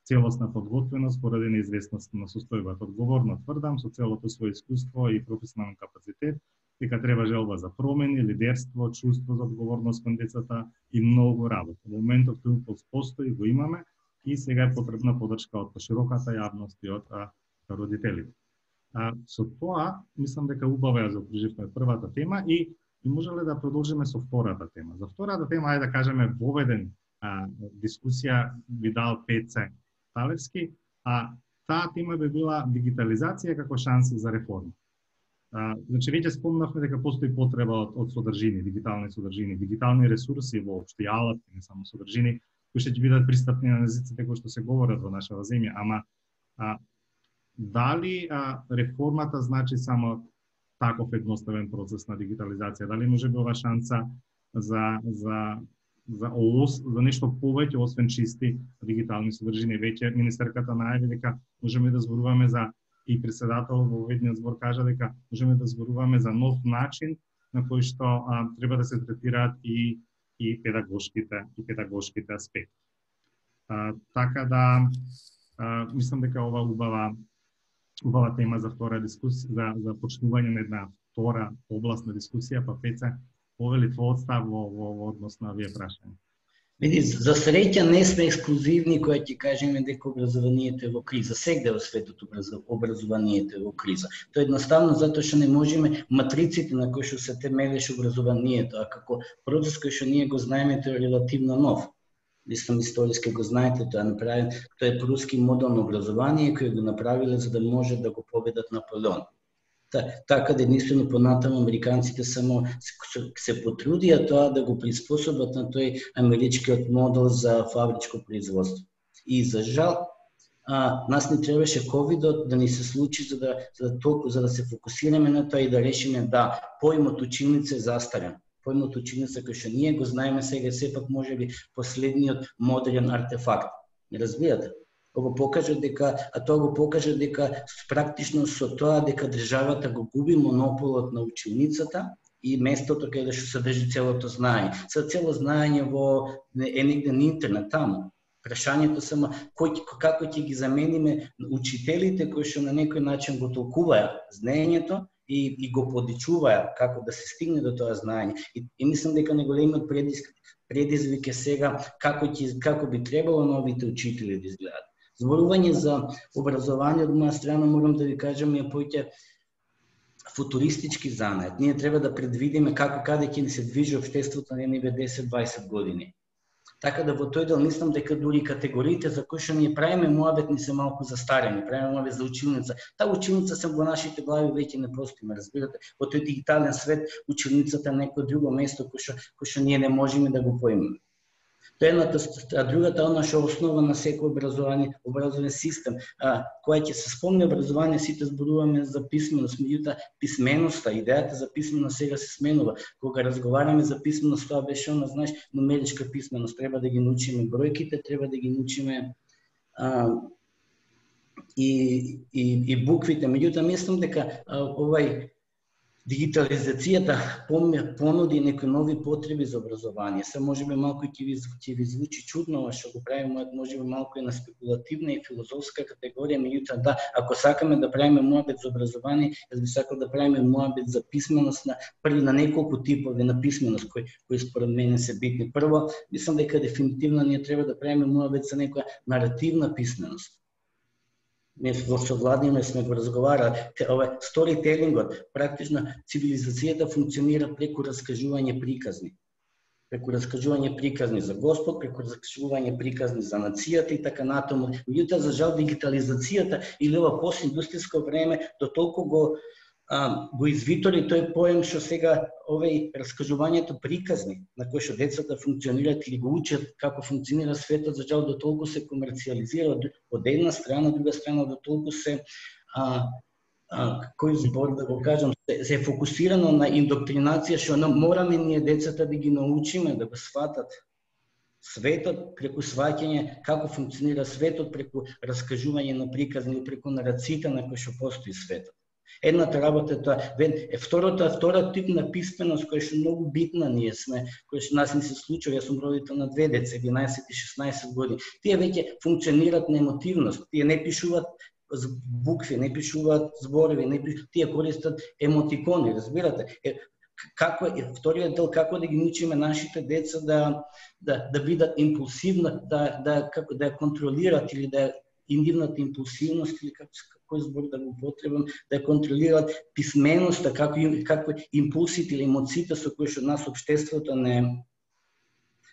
целосна подготвеност поради неизвестност на состојбата. Одговорно тврдам со целото свое искуство и професионален капацитет дека треба желба за промени, лидерство, чувство за одговорност кон децата и многу работа. Во моментов тој импулс постои, го имаме и сега е потребна подршка од широката јавност и од а, родителите. А, со тоа, мислам дека убаво ја заокруживме првата тема и, и можеле да продолжиме со втората тема. За втората тема, ајде да кажеме, воведен а, дискусија би дал Пеце Талевски, а таа тема би била дигитализација како шанси за реформа. А, значи, веќе спомнавме дека постои потреба од, од содржини, дигитални содржини, дигитални ресурси воопшто, и алатки, не само содржини, кои ќе бидат пристапни на езиците кои што се говорат во нашава земја, ама а, дали а, реформата значи само таков едноставен процес на дигитализација? Дали може би ова шанса за за за ос, за нешто повеќе освен чисти дигитални содржини? Веќе министерката најави дека можеме да зборуваме за, и председател во ведниот збор кажа дека можеме да зборуваме за нов начин на кој што а, треба да се третираат и и педагошките и педагошките аспекти. А, така да а, мислам дека ова убава убава тема за втора дискусија, за за почнување на една втора областна дискусија, па Пеце, повели твојот став во, во, во однос на овие прашања. Види, за среќа не сме ексклузивни кои ќе кажеме дека образованието е во криза. Сегде во светот образованието е во криза. Тоа е едноставно затоа што не можеме матриците на кои што се темелеше образованието, а како процес кој што ние го знаеме, тој е релативно нов. Мислам, историски го знаете, тоа е направен, тоа е пруски модел на образование кој го направиле за да може да го победат Наполеон. Така да единствено понатаму американците само се, се потрудија тоа да го приспособат на тој америчкиот модел за фабричко производство. И за жал, а, нас не требаше ковидот да ни се случи за да, за да толку за да се фокусираме на тоа и да решиме да поимот училница е застарен. Поимот училница кој што ние го знаеме сега сепак можеби последниот модерен артефакт. Не разбирате? Го покажа дека, а тоа го покажа дека практично со тоа дека државата го губи монополот на училницата и местото каде што се држи целото знаење. Се цело знаење во е негде на интернет таму. Прашањето само кој како ќе ги замениме учителите кои што на некој начин го толкуваат знаењето и и го подичуваат како да се стигне до тоа знаење. И, и мислам дека најголемиот предизвик предизвик е сега како ќе како би требало новите учители да изгледаат. Зборување за образование од моја страна морам да ви кажам е поќе футуристички занает. Ние треба да предвидиме како каде ќе ни се движи општеството на едни десет-дваесет години. Така да во тој дел мислам дека дури категориите за кои што ние правиме муабет ни се малку застарени. Правиме муабет за училница. Таа училница се во нашите глави веќе не постои, ме разбирате. Во тој дигитален свет училницата е некој друго место кој што кој што ние не можеме да го поимаме. Тоа е едната, а другата она што основа на секој образование, образовен систем, а, која ќе се спомне образование, сите зборуваме за писменост, меѓутоа писменоста, идејата за писменост сега се сменува. Кога разговараме за писменост, тоа беше она, знаеш, нумеричка писменост, треба да ги научиме бројките, треба да ги научиме а, и, и, и буквите. Меѓутоа мислам дека а, овај дигитализацијата понуди некои нови потреби за образование. Се можеби малку ќе ви, ќе ви звучи чудно, а што го правиме можеби малку и на спекулативна и филозофска категорија, меѓутоа да, ако сакаме да правиме муабет за образование, јас би сакал да правиме муабет за писменост на први на неколку типови на писменост кои кои според мене се битни. Прво, мислам дека дефинитивно ние треба да правиме муабет за некоја наративна писменост. Ние во Владимир сме го разговарали, ова сторителингот, практично цивилизацијата функционира преку раскажување приказни. Преку раскажување приказни за Господ, преку раскажување приказни за нацијата и така натаму. Меѓутоа, за жал, дигитализацијата или ова постиндустријско време до толку го а, го извитори тој поем што сега овој раскажувањето приказни на кој што децата функционираат или го учат како функционира светот, за жал до толку се комерцијализира од една страна, од друга страна до толку се а, а, кој збор да го кажам, се, се фокусирано на индоктринација, што мораме ние децата да ги научиме да го сватат светот преку сваќање како функционира светот, преку раскажување на приказни, преку нарациите на кои што постои светот. Едната работа е тоа, е втората, втора тип на писменост која што многу битна ние сме, која што нас не се случува, јас сум родител на две деца, единаесет и шеснаесет години. Тие веќе функционираат на емотивност, тие не пишуваат букви, не пишуваат зборови, не пишуваат, тие користат емотикони, разбирате? Е, како е вториот дел, како да ги научиме нашите деца да да да бидат импулсивни, да да како да ја контролираат или да нивната импулсивност или како кој збор да го употребам, да ја контролираат писменоста, како како импулсите или емоциите со кои што нас општеството не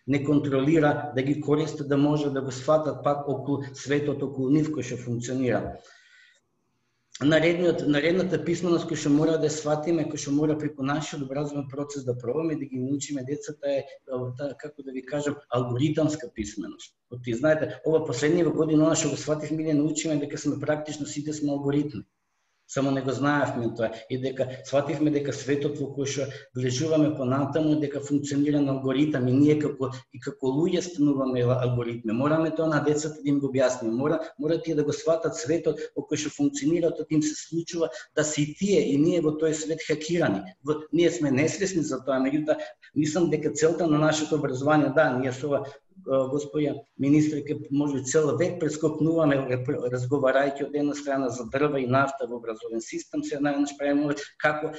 не контролира, да ги користат, да може да го сватат пак околу светот, околу нив кој што функционира. Наредниот, наредната писменост која што мора да сватиме, која што мора преку нашиот образовен процес да пробаме да ги научиме децата е, како да ви кажам, алгоритамска писменост. Ти знаете, ова последнива година она што го свативме да научиме дека сме практично сите сме алгоритми. Само не го знаевме тоа и дека свативме дека светот во кој што влежуваме понатаму дека функционира на алгоритам и ние како и како луѓе стануваме алгоритми. Мораме тоа на децата да им го објасниме. Мора мора тие да го сватат светот во кој што функционира, тоа им се случува да се и тие и ние во тој свет хакирани. Во, ние сме несвесни за тоа, меѓутоа мислам дека целта на нашето образование, да, ние со ова господја министерка, може цел век прескокнуваме разговарајќи од една страна за дрва и нафта во образовен систем, се најнаш правиме како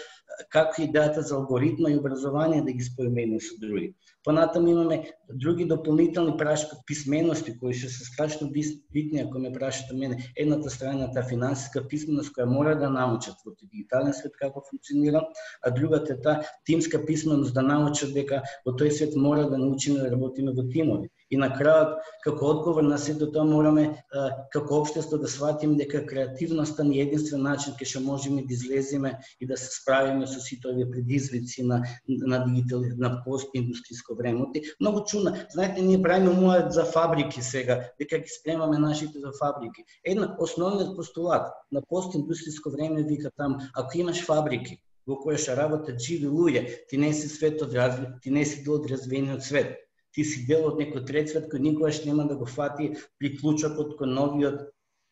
како идејата за алгоритма и образование да ги спојме со други. Понатаму имаме други дополнителни прашки писмености кои што се страшно битни, ако ме прашате мене. Едната страна е финансиска писменост која мора да научат во дигитален свет како функционира, а другата е таа тимска писменост да научат дека во тој свет мора да научиме да работиме во тимови. И на крајот, како одговор на сето тоа, мораме како општество да сватиме дека креативноста не е единствен начин кај што можеме да излеземе и да се справиме со сите овие предизвици на на дигитал на постиндустријско време. Многу чудно. Знаете, ние правиме умојат за фабрики сега, дека ги спремаме нашите за фабрики. Една основниот постулат на постиндустријско време вика таму, ако имаш фабрики во кои што работат живи луѓе, ти не си свет од развит, ти не си дел од развиениот свет. Ти си дел од некој трет свет кој никогаш нема да го фати приклучокот кон новиот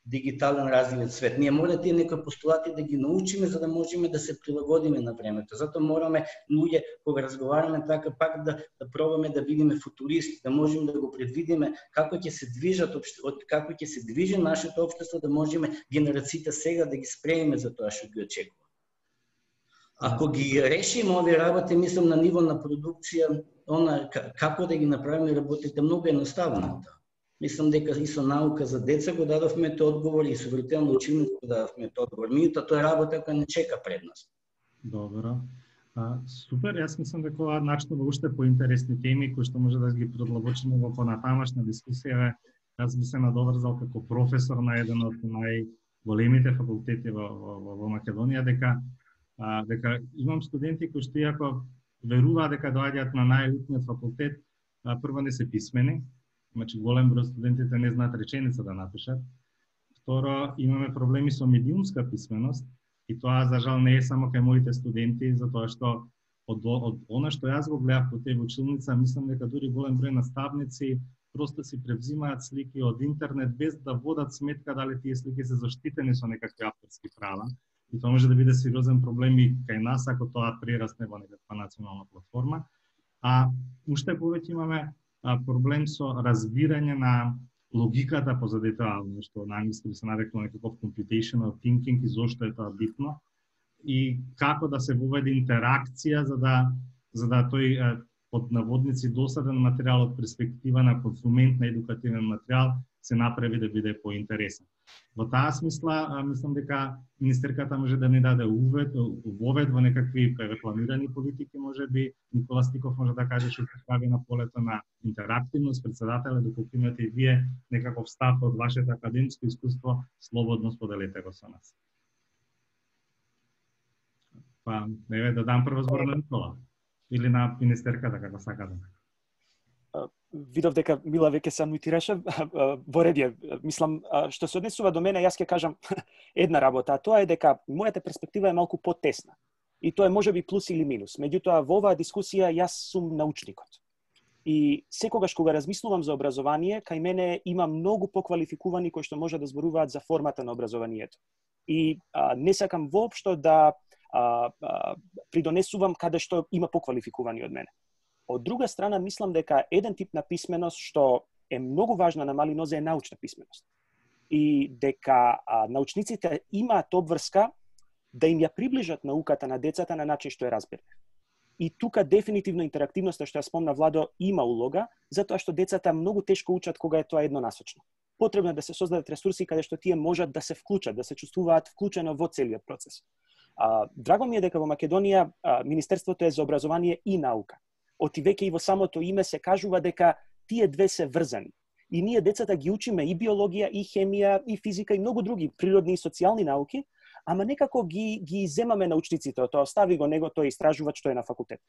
дигитален развиен свет. Ние мора тие некои постулати да ги научиме за да можеме да се прилагодиме на времето. Затоа мораме луѓе кога разговараме така пак да да пробаме да бидеме футуристи, да можеме да го предвидиме како ќе се движат како ќе се движи нашето општество, да можеме генерациите сега да ги спремиме за тоа што ги очекува. Ако ги решиме овие работи, мислам на ниво на продукција, она како да ги направиме работите многу едноставно. Мислам дека и со наука за деца го дадовме тој одговор и со виртуелно училница го дадовме тој одговор. Меѓутоа тоа е работа која не чека пред нас. Добро. А, супер, јас мислам дека ова начнува уште поинтересни теми кои што може да ги продлабочиме во понатамашна дискусија. Јас би се надоврзал како професор на еден од најголемите факултети во, во, во Македонија дека а, дека имам студенти кои што иако веруваат дека доаѓаат на најелитниот факултет, а, прво не се писмени. Значи, голем број студентите не знаат реченица да напишат. Второ, имаме проблеми со медиумска писменост и тоа за жал не е само кај моите студенти, затоа што од, од она што јас го гледав по таа училница, мислам дека дури голем број наставници просто си превзимаат слики од интернет без да водат сметка дали тие слики се заштитени со некакви авторски права. И тоа може да биде сериозен проблем и кај нас ако тоа прерасне во некаква национална платформа. А уште повеќе имаме проблем со разбирање на логиката позади тоа, што на англиски би се нарекlo некаков computational thinking и зошто е тоа битно и како да се воведе интеракција за да за да тој под наводници досаден материјал од перспектива на консумент на едукативен материјал се направи да биде поинтересен. Во таа смисла, мислам дека министерката може да ни даде увед, вовед во некакви рекламирани политики, може би Никола Стиков може да каже што се прави на полето на интерактивност, председателе, доколку имате и вие некаков став од вашето академско искуство, слободно споделете го со нас. Па, еве да дам прво збор на Никола или на министерката, како сакате. видов дека Мила веќе се анмутираше во редје. Мислам, што се однесува до мене, јас ќе кажам една работа, а тоа е дека мојата перспектива е малку потесна. И тоа е можеби плюс или минус. Меѓутоа, во оваа дискусија јас сум научникот. И секогаш кога размислувам за образование, кај мене има многу поквалификувани кои што може да зборуваат за формата на образованието. И а, не сакам воопшто да а, а, придонесувам каде што има поквалификувани од мене. Од друга страна, мислам дека еден тип на писменост што е многу важна на мали нозе е научна писменост. И дека а, научниците имаат обврска да им ја приближат науката на децата на начин што е разберливи. И тука дефинитивно интерактивноста што ја спомна Владо има улога, затоа што децата многу тешко учат кога е тоа еднонасочно. Потребно е да се создадат ресурси каде што тие можат да се вклучат, да се чувствуваат вклучено во целиот процес. А, драго ми е дека во Македонија а, Министерството е за образование и наука. Оти веќе и во самото име се кажува дека тие две се врзани. И ние децата ги учиме и биологија, и хемија, и физика, и многу други природни и социјални науки, ама некако ги, ги земаме научниците од тоа, остави го него тој истражувач што е на факултет.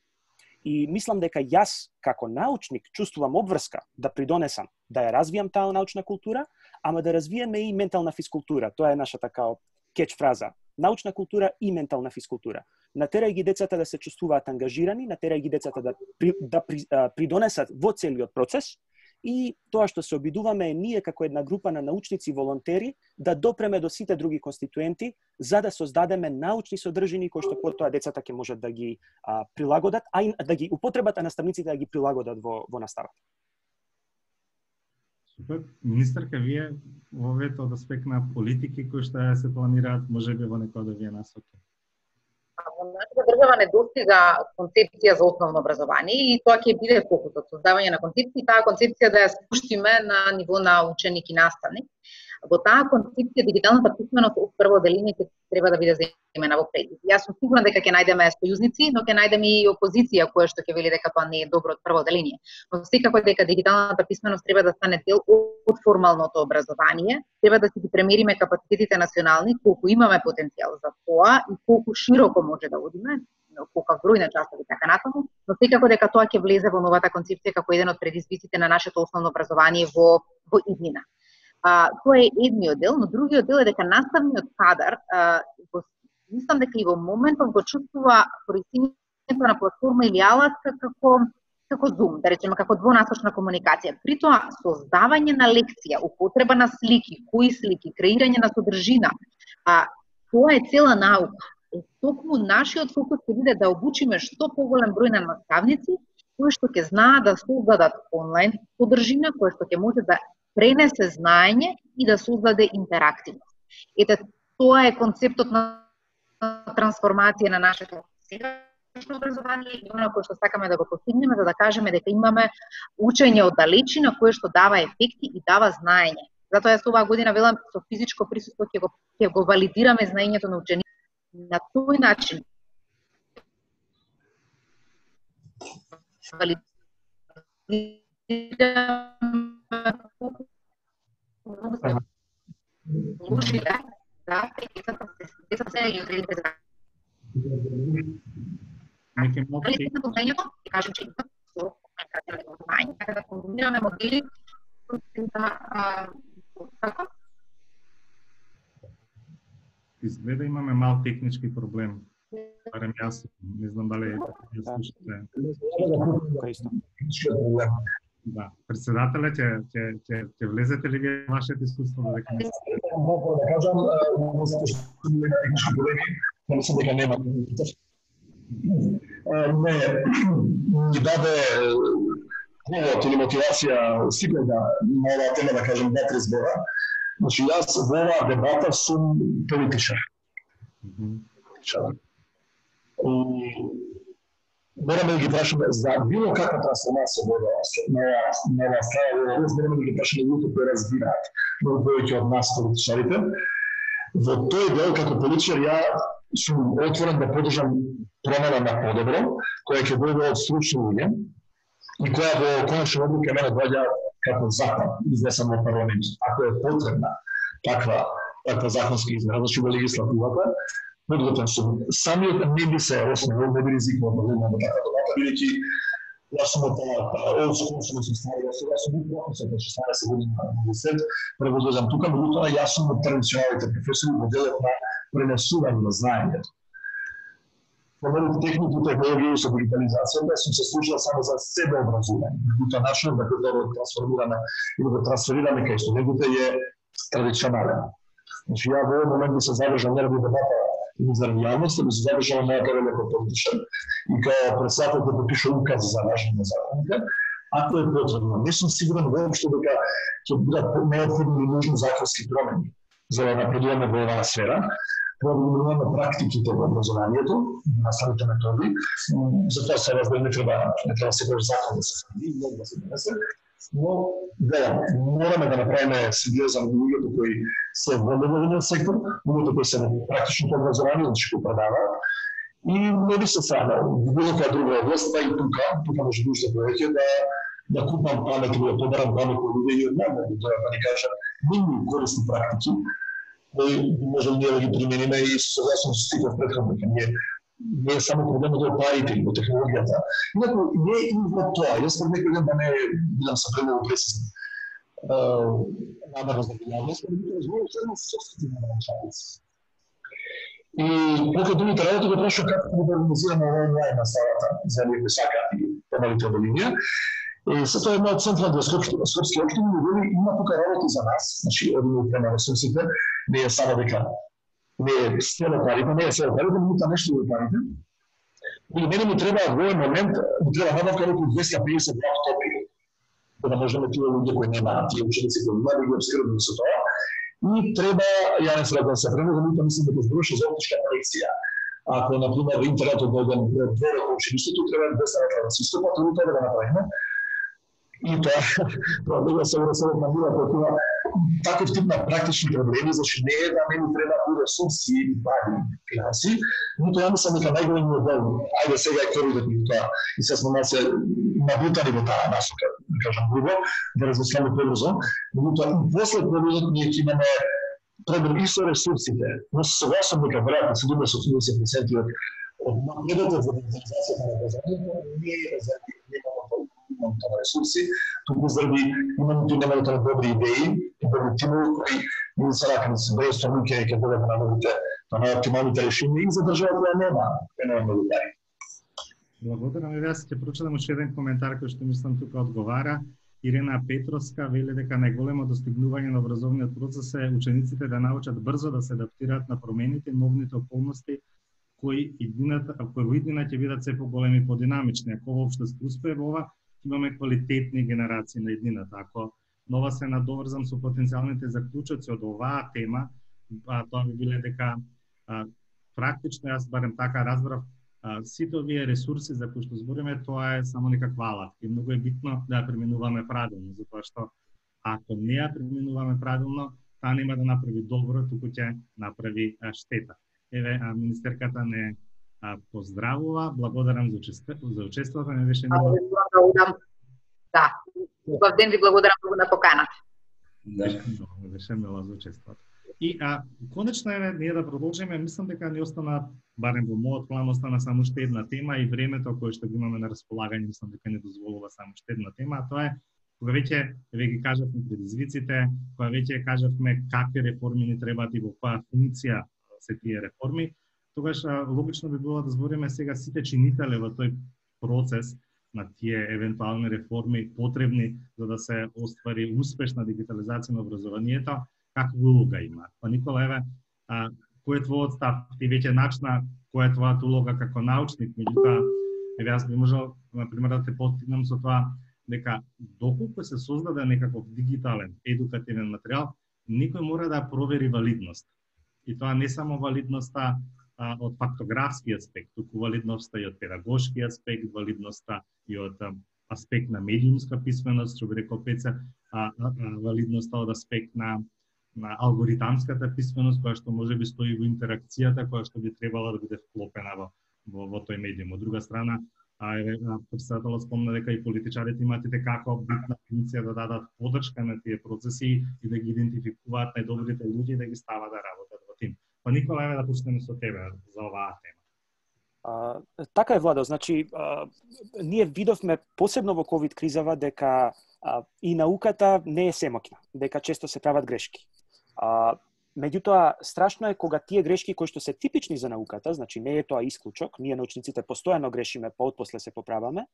И мислам дека јас, како научник, чувствувам обврска да придонесам, да ја развијам таа научна култура, ама да развиеме и ментална физкултура. Тоа е нашата као кетч фраза. Научна култура и ментална физкултура. Натерај ги децата да се чувствуваат ангажирани, натерај ги децата да, при, да при, а, придонесат во целиот процес, и тоа што се обидуваме е ние како една група на научници волонтери да допреме до сите други конституенти за да создадеме научни содржини кои што потоа децата ќе можат да ги а, прилагодат, а и да ги употребат, а наставниците да ги прилагодат во, во наставата. Супер. Министерка, вие во овие од аспект на политики кои што се планираат, можеби во некоја да вие насоки? Во нашата држава не достига концепција за основно образование и тоа ќе биде фокусот, создавање на концепција, таа концепција да ја спуштиме на ниво на ученик и наставник. Во таа концепција дигиталната писменост од прво деление треба да биде земена во предик. Јас сум сигурна дека ќе најдеме сојузници, но ќе најдеме и опозиција која што ќе вели дека тоа не е добро од прво деление. Но секако дека дигиталната писменост треба да стане дел од формалното образование, треба да си ги премериме капацитетите национални, колку имаме потенцијал за тоа и колку широко може да одиме, колку број на часови така натаму, но секако дека тоа ќе влезе во новата концепција како еден од предизвиците на нашето основно образование во во иднина. А, тоа е едниот дел, но другиот дел е дека наставниот кадар, а, го, мислам дека и во моментов го чувствува користењето на платформа или алатка како како Zoom, да речеме како двонасочна комуникација. При тоа создавање на лекција, употреба на слики, кои слики, креирање на содржина, а тоа е цела наука. Е, токму нашиот фокус ќе биде да обучиме што поголем број на наставници кои што ќе знаат да создадат онлайн содржина, која што ќе може да пренесе знаење и да создаде интерактивност. Ете, тоа е концептот на трансформација на нашето сегашно образование и оно кој што сакаме да го постигнеме, за да кажеме дека имаме учење од далечина кое што дава ефекти и дава знаење. Затоа јас оваа година велам со физичко присуство ќе го ќе го валидираме знаењето на учениците на тој начин. Лучи да, да, децата се и одредите за. Неки моменти на знаењето, ќе кажам че со знаење, да комбинираме модели да како изгледа имаме мал технички проблем. Барем јас, не знам дали ја слушате. Да, председателе, ќе ќе ќе ќе влезете ли вие вашето искуство да дека не мога да кажам, технички проблеми, не мислам дека нема. Не, ни даде повод или мотивација сите да на оваа тема да кажам два-три збора. Значи јас во оваа дебата сум политичар. Мораме да ги прашаме за било каква трансформација во оваа страна, мораме да ги прашаме луѓето кои разбираат, многу повеќе од нас политичарите. Во тој дел како политичар ја сум отворен да поддржам промена на подобро, која ќе дојде од стручни луѓе и која во конечна одлука мене доаѓа како закон изнесен во парламент. Ако е потребна таква таква законска измена, значи во легислативата, подготвен сум. Самиот не би се основал, не би ризикувал да влезам во таква дебата, бидејќи Јас сум од old school, сум се стари, јас сум бил професор на шеснаесет години на универзитет, превозам тука, меѓутоа јас сум од традиционалните професори во делот на пренесување на знаењето. Промените техники и технологии со дигитализацијата сум се служил само за себе образување. Меѓутоа начинот на кој да го трансформираме или го трансферираме кај студентите е традиционален. Значи ја во овој момент би се задржал не ради дебата и заради јавност, би се задржал мојата роля како политичар и као председател да подпишува указ за важење на законите, ако е потребно. Не сум сигурен воопшто дека ќе бидат неопходни и нужни законски промени за да напредуваме во оваа сфера. Треба да менуваме практиките во образованието, наставните методи. Затоа се разбира не треба не треба секој закон да се следи, да се донесе. Но да, мораме да направиме сериозен луѓето кои се во неволен сектор, луѓето кои се во практичното образование, значи кои предаваат. И не би се срамел, било која друга област, па и тука, тука може би уште повеќе да да купам памет или да побарам памет од луѓе и од мене, да ни кажат нивни корисни практики, кои може ние да ги примениме и согласно со Стиков претходно, ние не е само проблемот од парите и во технологијата. Инаку не е и во тоа. Јас пред некој ден да не бидам се премногу прецизен. Намерно за јавност, но би разговарал само со собствените научници. И покрај другите работи го прашав како да организираме онлайн наставата за оние кои сакаат и помалите од линија. И се тоа е една од централните скопски општини, но вели има тука работи за нас, значи одиме према ресурсите, не е само дека не е село парите, не е село парите, но та нешто во парите. И мене ми треба во овој момент, ми треба набавка околу двеста и педесет лаптопи, за да можеме тие луѓе кои немаат, тие ученици кои немаат да ги обскрбиме со тоа. И треба, ја не се да се премногу, но мислам дека зборуваше за оптичка колекција. Ако, например, интернетот дојде двора во училиштето, треба двеста лаптопи да се истопат, тоа да го направиме. И тоа, тоа да се урасува на мила, тоа таков тип на практични проблеми, значи не е да не ни треба и ресурси и пари, финанси, но тоа ја мислам дека најголемиот дел, ајде сега е коридот и тоа, и се сме се набутани во таа насока, да кажам грубо, да размисламе побрзо, но тоа и после коридот ние ќе имаме проблем и со ресурсите, но се согласам дека веројатно седумдесет до осемдесет проценти од напредокот во дигитализацијата на образованието не е заради немањето на ресурси, туку заради имањето и немањето на добри идеи и добри тимови кои не се ракани се бројство луѓе и ќе бидат на новите, на најоптималните решенија и за држава која нема, која нема многу пари. Благодарам и јас ќе прочитам уште еден коментар кој што мислам тука одговара. Ирена Петровска вели дека најголемо достигнување на образовниот процес е учениците да научат брзо да се адаптираат на промените и новите околности кои иднината, кои во иднина ќе бидат се поголеми и подинамични. Ако воопшто се успее во ова, имаме квалитетни генерации на иднината. Ако нова се надоврзам со потенцијалните заклучоци од оваа тема, а, тоа би биле дека а, практично, јас барем така разбрав, а, сите овие ресурси за кои што збориме, тоа е само некаква алатка. И многу е битно да ја применуваме правилно, затоа што ако не ја применуваме правилно, таа нема да направи добро, туку ќе направи а, штета. Еве, а, министерката не а, поздравува, благодарам за, учеството, за учеството, не беше мило. Да, убав ден, ви благодарам многу на поканата. Да, беше мило за учеството. И а, конечно е ние да продолжиме, мислам дека ни остана, барем во мојот план, остана само уште една тема и времето кое што го имаме на располагање, мислам дека не дозволува само уште една тема, а тоа е кога веќе ве ги кажавме предизвиците, кога веќе кажавме какви реформи ни требаат и во која функција се тие реформи, тогаш логично би било да збориме сега сите чинители во тој процес на тие евентуални реформи потребни за да се оствари успешна дигитализација на образованието, каква улога има. Па Никола, еве, а, кој е твојот став? Ти веќе начна која е твојата улога како научник, меѓутоа, еве јас би можел, например, да те постигнам со тоа дека доколку се создаде некаков дигитален едукативен материјал, никој мора да провери валидност. И тоа не само валидноста а, од фактографски аспект, туку валидноста и од педагошки аспект, валидноста и од а, аспект на медиумска писменост, што би рекол Пеце, а, а, валидноста од аспект на, на алгоритамската писменост, која што може би стои во интеракцијата, која што би требала да биде вклопена во, во, во тој медиум. Од друга страна, а, еве, председателот спомна дека и политичарите имаат и како битна функција да дадат поддршка на тие процеси и да ги идентификуваат најдобрите луѓе и да ги стават да работат во тим. Па Никола, еве да почнеме со тебе за оваа тема. А, така е, Владо, значи а, ние видовме посебно во ковид кризава дека а, и науката не е семоќна, дека често се прават грешки. А, меѓутоа, страшно е кога тие грешки кои што се типични за науката, значи не е тоа исклучок, ние научниците постојано грешиме, па отпосле се поправаме.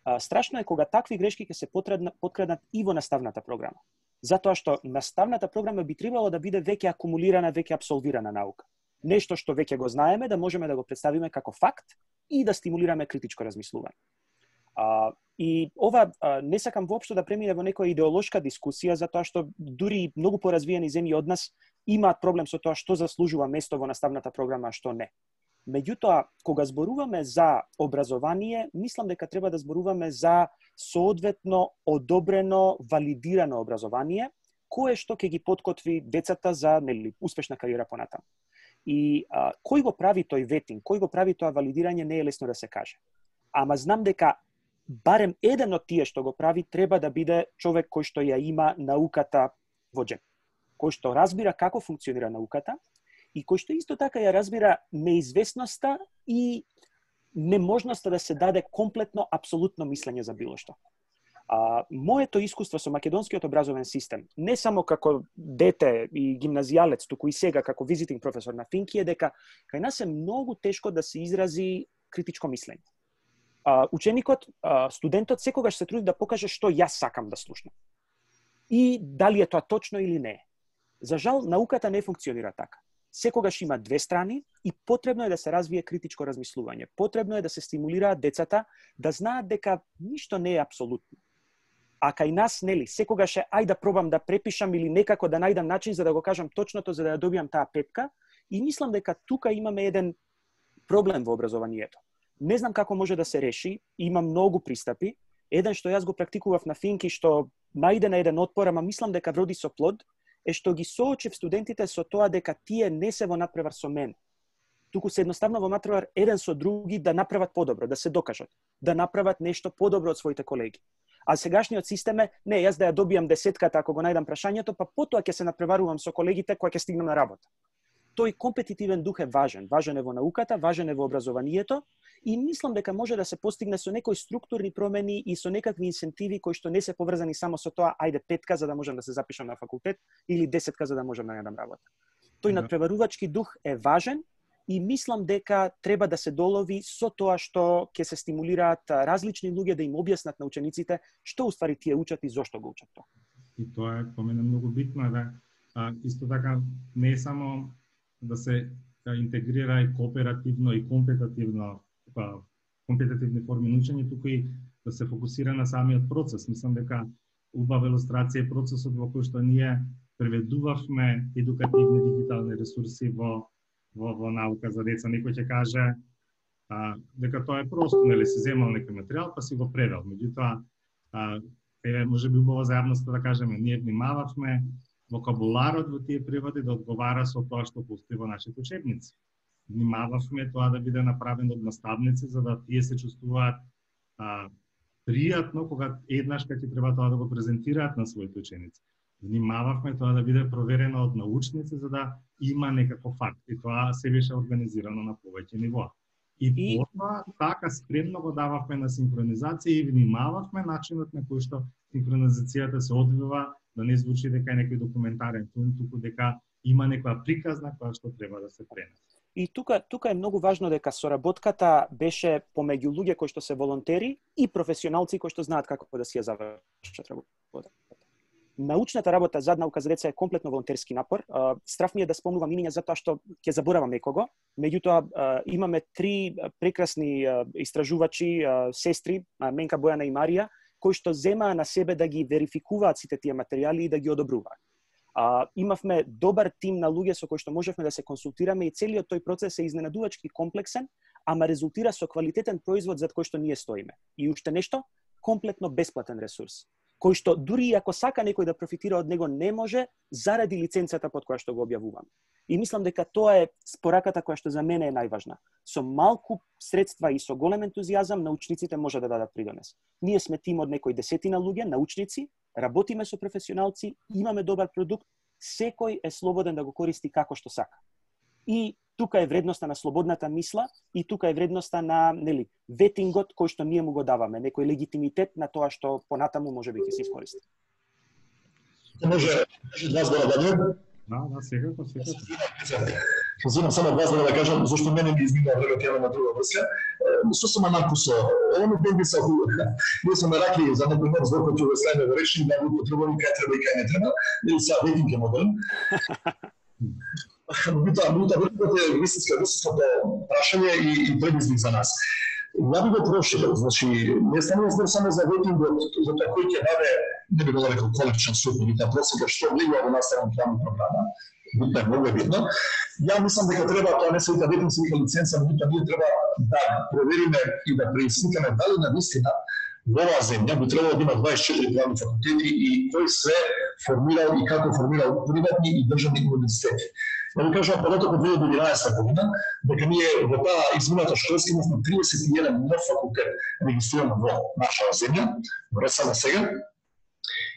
А, страшно е кога такви грешки ќе се поткраднат и во наставната програма. Затоа што наставната програма би требало да биде веќе акумулирана, веќе абсолвирана наука. Нешто што веќе го знаеме, да можеме да го представиме како факт и да стимулираме критичко размислување. А, и ова а, не сакам воопшто да премине во некоја идеолошка дискусија, затоа што дури многу поразвиени земји од нас имаат проблем со тоа што заслужува место во наставната програма, а што не. Меѓутоа, кога зборуваме за образование, мислам дека треба да зборуваме за соодветно одобрено, валидирано образование, кое што ќе ги подкотви децата за, нели, успешна кариера понатаму. И а, кој го прави тој ветинг, кој го прави тоа валидирање, не е лесно да се каже. Ама знам дека барем еден од тие што го прави треба да биде човек кој што ја има науката во џеб, кој што разбира како функционира науката и кој што исто така ја разбира неизвестноста и неможноста да се даде комплетно, апсолутно мислење за било што. А, моето искуство со македонскиот образовен систем, не само како дете и гимназијалец, туку и сега како визитинг професор на Финки, е дека кај нас е многу тешко да се изрази критичко мислење. А, ученикот, а, студентот секогаш се труди да покаже што јас сакам да слушнам. И дали е тоа точно или не. За жал, науката не функционира така. Секогаш има две страни и потребно е да се развие критичко размислување. Потребно е да се стимулираат децата да знаат дека ништо не е апсолутно. А кај нас, нели, секогаш е ај да пробам да препишам или некако да најдам начин за да го кажам точното за да ја добијам таа петка. И мислам дека тука имаме еден проблем во образованието. Не знам како може да се реши, има многу пристапи. Еден што јас го практикував на Финки, што најде на еден отпор, ама мислам дека вроди со плод, е што ги соочив студентите со тоа дека тие не се во надпревар со мен. Туку се едноставно во надпревар еден со други да направат подобро, да се докажат, да направат нешто подобро од своите колеги. А сегашниот систем е, не, јас да ја добијам десетката ако го најдам прашањето, па потоа ќе се надпреварувам со колегите кога ќе стигнам на работа. Тој компетитивен дух е важен. Важен е во науката, важен е во образованието и мислам дека може да се постигне со некои структурни промени и со некакви инсентиви кои што не се поврзани само со тоа, ајде петка за да можам да се запишам на факултет или десетка за да можам да најдам работа. Тој надпреварувачки дух е важен и мислам дека треба да се долови со тоа што ќе се стимулираат различни луѓе да им објаснат на учениците што уствари тие учат и зошто го учат тоа. И тоа е по мене многу битно, да. А, исто така не е само да се интегрира и кооперативно и компетативно, па, компетативни форми на учење, туку и да се фокусира на самиот процес. Мислам дека убава илустрација е процесот во кој што ние преведувавме едукативни дигитални ресурси во во, во наука за деца. Некој ќе каже а, дека тоа е просто, нели, си земал некој материјал па си го превел. Меѓутоа, еве можеби убаво за јавноста да кажеме, ние внимававме вокабуларот во тие преводи да одговара со тоа што постои во нашите учебници. Внимававме тоа да биде направено од наставници за да тие се чувствуваат а, пријатно кога еднаш ќе треба тоа да го презентираат на своите ученици. Внимававме тоа да биде проверено од научници за да има некаков факт и тоа се беше организирано на повеќе нивоа. И, и... потоа така спремно го дававме на синхронизација и внимававме начинот на кој што синхронизацијата се одвива, да не звучи дека е некој документарен филм, туку дека има некоја приказна која што треба да се пренесе. И тука тука е многу важно дека соработката беше помеѓу луѓе кои што се волонтери и професионалци кои што знаат како да си ја завршат работата. Научната работа за наука за деца е комплетно волонтерски напор. Страф ми е да спомнувам имиња затоа што ќе заборавам некого. Меѓутоа имаме три прекрасни истражувачи, сестри, Менка, Бојана и Марија, кои што земаа на себе да ги верификуваат сите тие материјали и да ги одобруваат. А, имавме добар тим на луѓе со кои што можевме да се консултираме и целиот тој процес е изненадувачки комплексен, ама резултира со квалитетен производ зад кој што ние стоиме. И уште нешто, комплетно бесплатен ресурс, кој што дури и ако сака некој да профитира од него не може заради лиценцата под која што го објавувам. И мислам дека тоа е спораката која што за мене е најважна. Со малку средства и со голем ентузијазам научниците може да дадат придонес. Ние сме тим од некои десетина луѓе, научници, работиме со професионалци, имаме добар продукт, секој е слободен да го користи како што сака. И тука е вредноста на слободната мисла и тука е вредноста на, нели, ветингот кој што ние му го даваме, некој легитимитет на тоа што понатаму можеби ќе се искористи. Може два збора да не? Да, да, секако, секако. Што земам само два збора да кажам, зашто мене ми измина време тема на друга врска. Што сум малку со оно денги са хубаво. Ние сме ракли за некој нов збор кој ќе го ставиме во речник да го употребуваме кај треба и кај не треба, или са ветинг е модерн. Бута, бута, бута е вистинска, вистинското прашање и, и предизвик за нас. Ја би го проширил, значи, не станува збор само за ветингот, за тоа кој ќе даде, не би го рекол количен суд, или та просека што влегува во наставен план и програма, битно е многу битно. Ја мислам дека треба, тоа не се вика ветинг, се вика лиценца, но битно ние треба да провериме и да преискаме дали на вистина во оваа земја би требало да има дваесет и четири правни факултети и кој се формирал и како формирал приватни и државни универзитети. Да ви кажам, податок од две илјади и единаесета година, дека ние во таа измината школска имавме триесет и еден нов факултет регистриран во нашава земја, во РСН сега.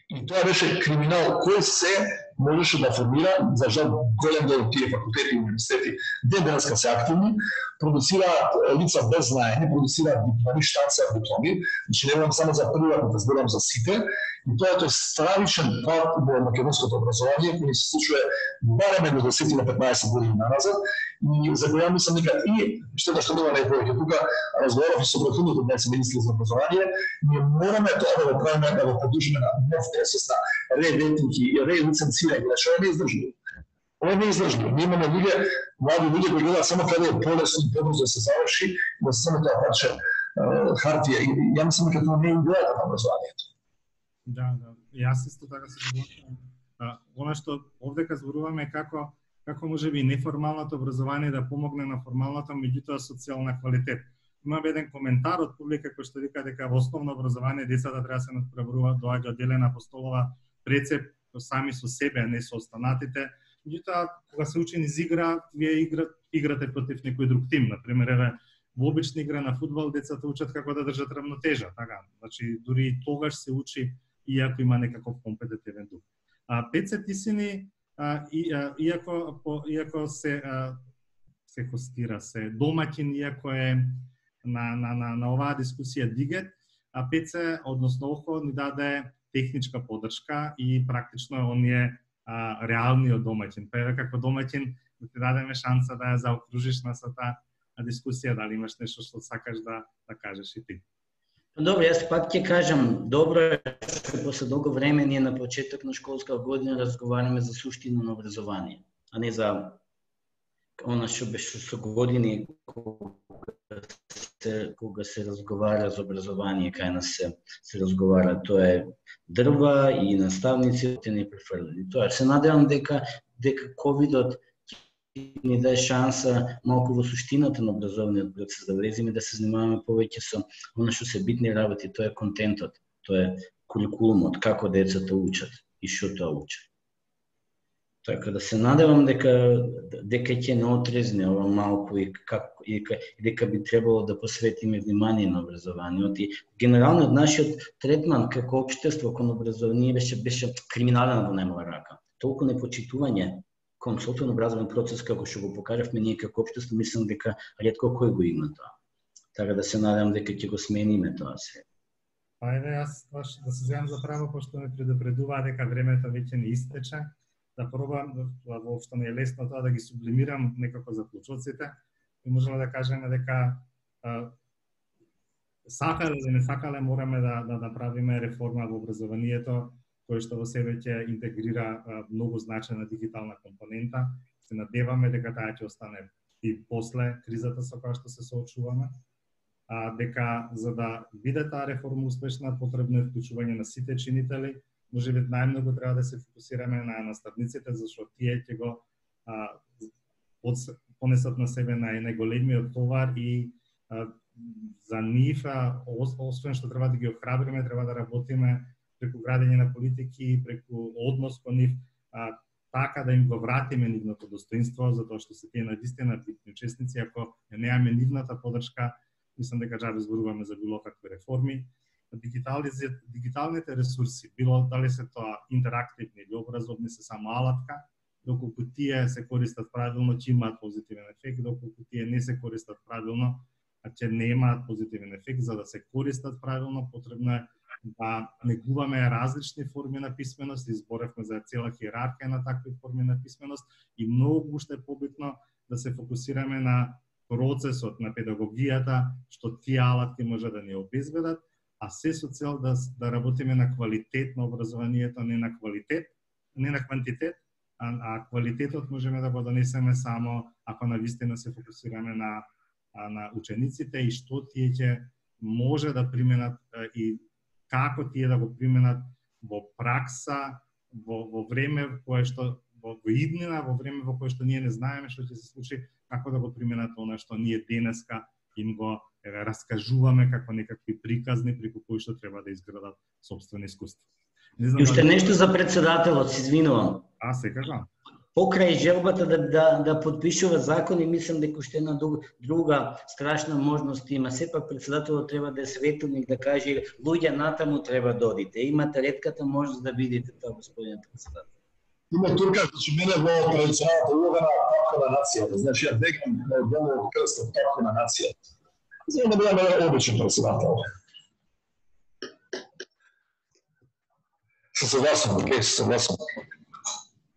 И тоа беше криминал кој се можеше да формира, за жал голем дел од тие факултети и универзитети ден денеска се активни, продуцираат лица без знаење, продуцираат дипломи, штанцаат дипломи, значи не само за приватно, да зборам за сите, и тоа е тој стравичен пат во македонското образование, кој се случува барем едно десет на петнаесет години назад, и за која мислам дека и што што нема најповеќе тука, разговарав и со претходните днес министри за образование, ние мораме тоа да го правиме, да го поддржиме на нов процес на ре-ветинг и ре-лиценцирање, што е неиздржливо. Ова е неиздржливо. Ние имаме луѓе, млади луѓе кои гледаат само каде е полесно и побрзо да се заврши, да се само тоа парче хартија. И ја мислам дека тоа не е идејата на образованието. Да, да. Јас исто така се согласувам. Она што овдека зборуваме како како можеби неформалното образование да помогне на формалното, меѓутоа социјална квалитет. Има еден коментар од публика кој што вика дека во основно образование децата треба да се надпреваруваат, доаѓа одделена по столова прецеп сами со себе, а не со останатите. Меѓутоа, кога се учи низ игра, вие игра, играте против некој друг тим. Например, еве, во обична игра на фудбал децата учат како да држат равнотежа, така. Значи, дури и тогаш се учи иако има некаков компетитивен дух. А петдесет истини, а, и, а, иако по, иако се а, се хостира, се домаќин, иако е на на на на оваа дискусија Дигет, а петдесет, односно ОХО, ни даде техничка поддршка и практично он е а, реалниот домаќин. Па еве како домаќин да ти дадеме шанса да ја заокружиш на сата дискусија, дали имаш нешто што сакаш да да кажеш и ти. Добро, јас пак ќе кажам, добро е што после долго време ние на почеток на школска година разговараме за суштина на образование, а не за она што беше со години кога се, кога се разговара за образование, кај нас се, се разговара, тоа е дрва и наставниците не префрлени. Тоа се надевам дека дека ковидот ни даде шанса малку во суштината на образовниот процес да влеземе, да се занимаваме повеќе со она што се битни работи, тоа е контентот, тоа е курикулумот, како децата учат и што тоа учат. Така да се надевам дека дека ќе не отрезне ова малку и како и дека би требало да посветиме внимание на образованието и генерално нашиот третман како општество кон образование беше беше криминален во најмала рака. Толку непочитување кон сопствен образовен процес како што го покажавме ние како општество, мислам дека ретко кој го има тоа. Така да се надевам дека ќе го смениме тоа се. Па еве јас баш да се земам за право, пошто ме предупредуваа дека времето веќе не истече, да пробам, воопшто не е лесно тоа да ги сублимирам некако заклучоците и можеме да кажеме дека а, сакале или не сакале мораме да да направиме реформа во образованието, кој што во себе ќе интегрира а, многу значајна дигитална компонента. Се надеваме дека таа ќе остане и после кризата со која што се соочуваме. А, дека за да биде таа реформа успешна, потребно е вклучување на сите чинители. Можеби најмногу треба да се фокусираме на наставниците, зашто тие ќе го а, понесат на себе нај најголемиот товар и а, за нив, а, освен што треба да ги охрабриме, треба да работиме преку градење на политики, преку однос кон нив, а, така да им го вратиме нивното достоинство, затоа што се тие навистина битни учесници. Ако немаме нивната поддршка, мислам дека џабе зборуваме за било какви реформи. Дигиталните ресурси, било дали се тоа интерактивни или образовни, се само алатка доколку тие се користат правилно, ќе имаат позитивен ефект, доколку тие не се користат правилно, а ќе немаат позитивен ефект. За да се користат правилно, потребно е да негуваме различни форми на писменост, изборевме за цела хиерархија на такви форми на писменост и многу уште побитно да се фокусираме на процесот на педагогијата, што тие алатки може да ни обезбедат, а се со цел да, да работиме на квалитет на образованието, не на квалитет, не на квантитет, а, а квалитетот можеме да го донесеме само ако навистина се фокусираме на, на учениците и што тие ќе може да применат и како тие да го применат во пракса, во, во време кое што во иднина, во време во кое што ние не знаеме што ќе се случи, како да го применат она што ние денеска им го еве, раскажуваме како некакви приказни преку кои што треба да изградат собствено искуство. Не знам, и уште нешто за председателот, се извинувам. А, секако. Покрај желбата да, да, да подпишува закони, мислам дека уште една друга страшна можност има. Сепак председателот треба да е светилник, да каже луѓе натаму треба да одите. Имате ретката можност да видите тоа, господин председател. Има турка, значи мене во традиционалната улога на тапка на нацијата. Значи ја декам на долу крстот тапка на нацијата. За да бидам обичен председател. Се согласувам, окей, се согласувам.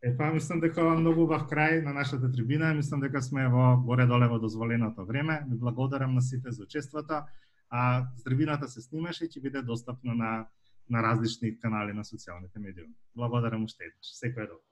Е, па мислам дека ова многу убав крај на нашата трибина. Мислам дека сме во горе-доле во дозволеното време. Ви благодарам на сите за учеството. А трибината се снимаше и ќе биде достапна на на различни канали на социјалните медии. Благодарам уште еднаш. Секој е добро.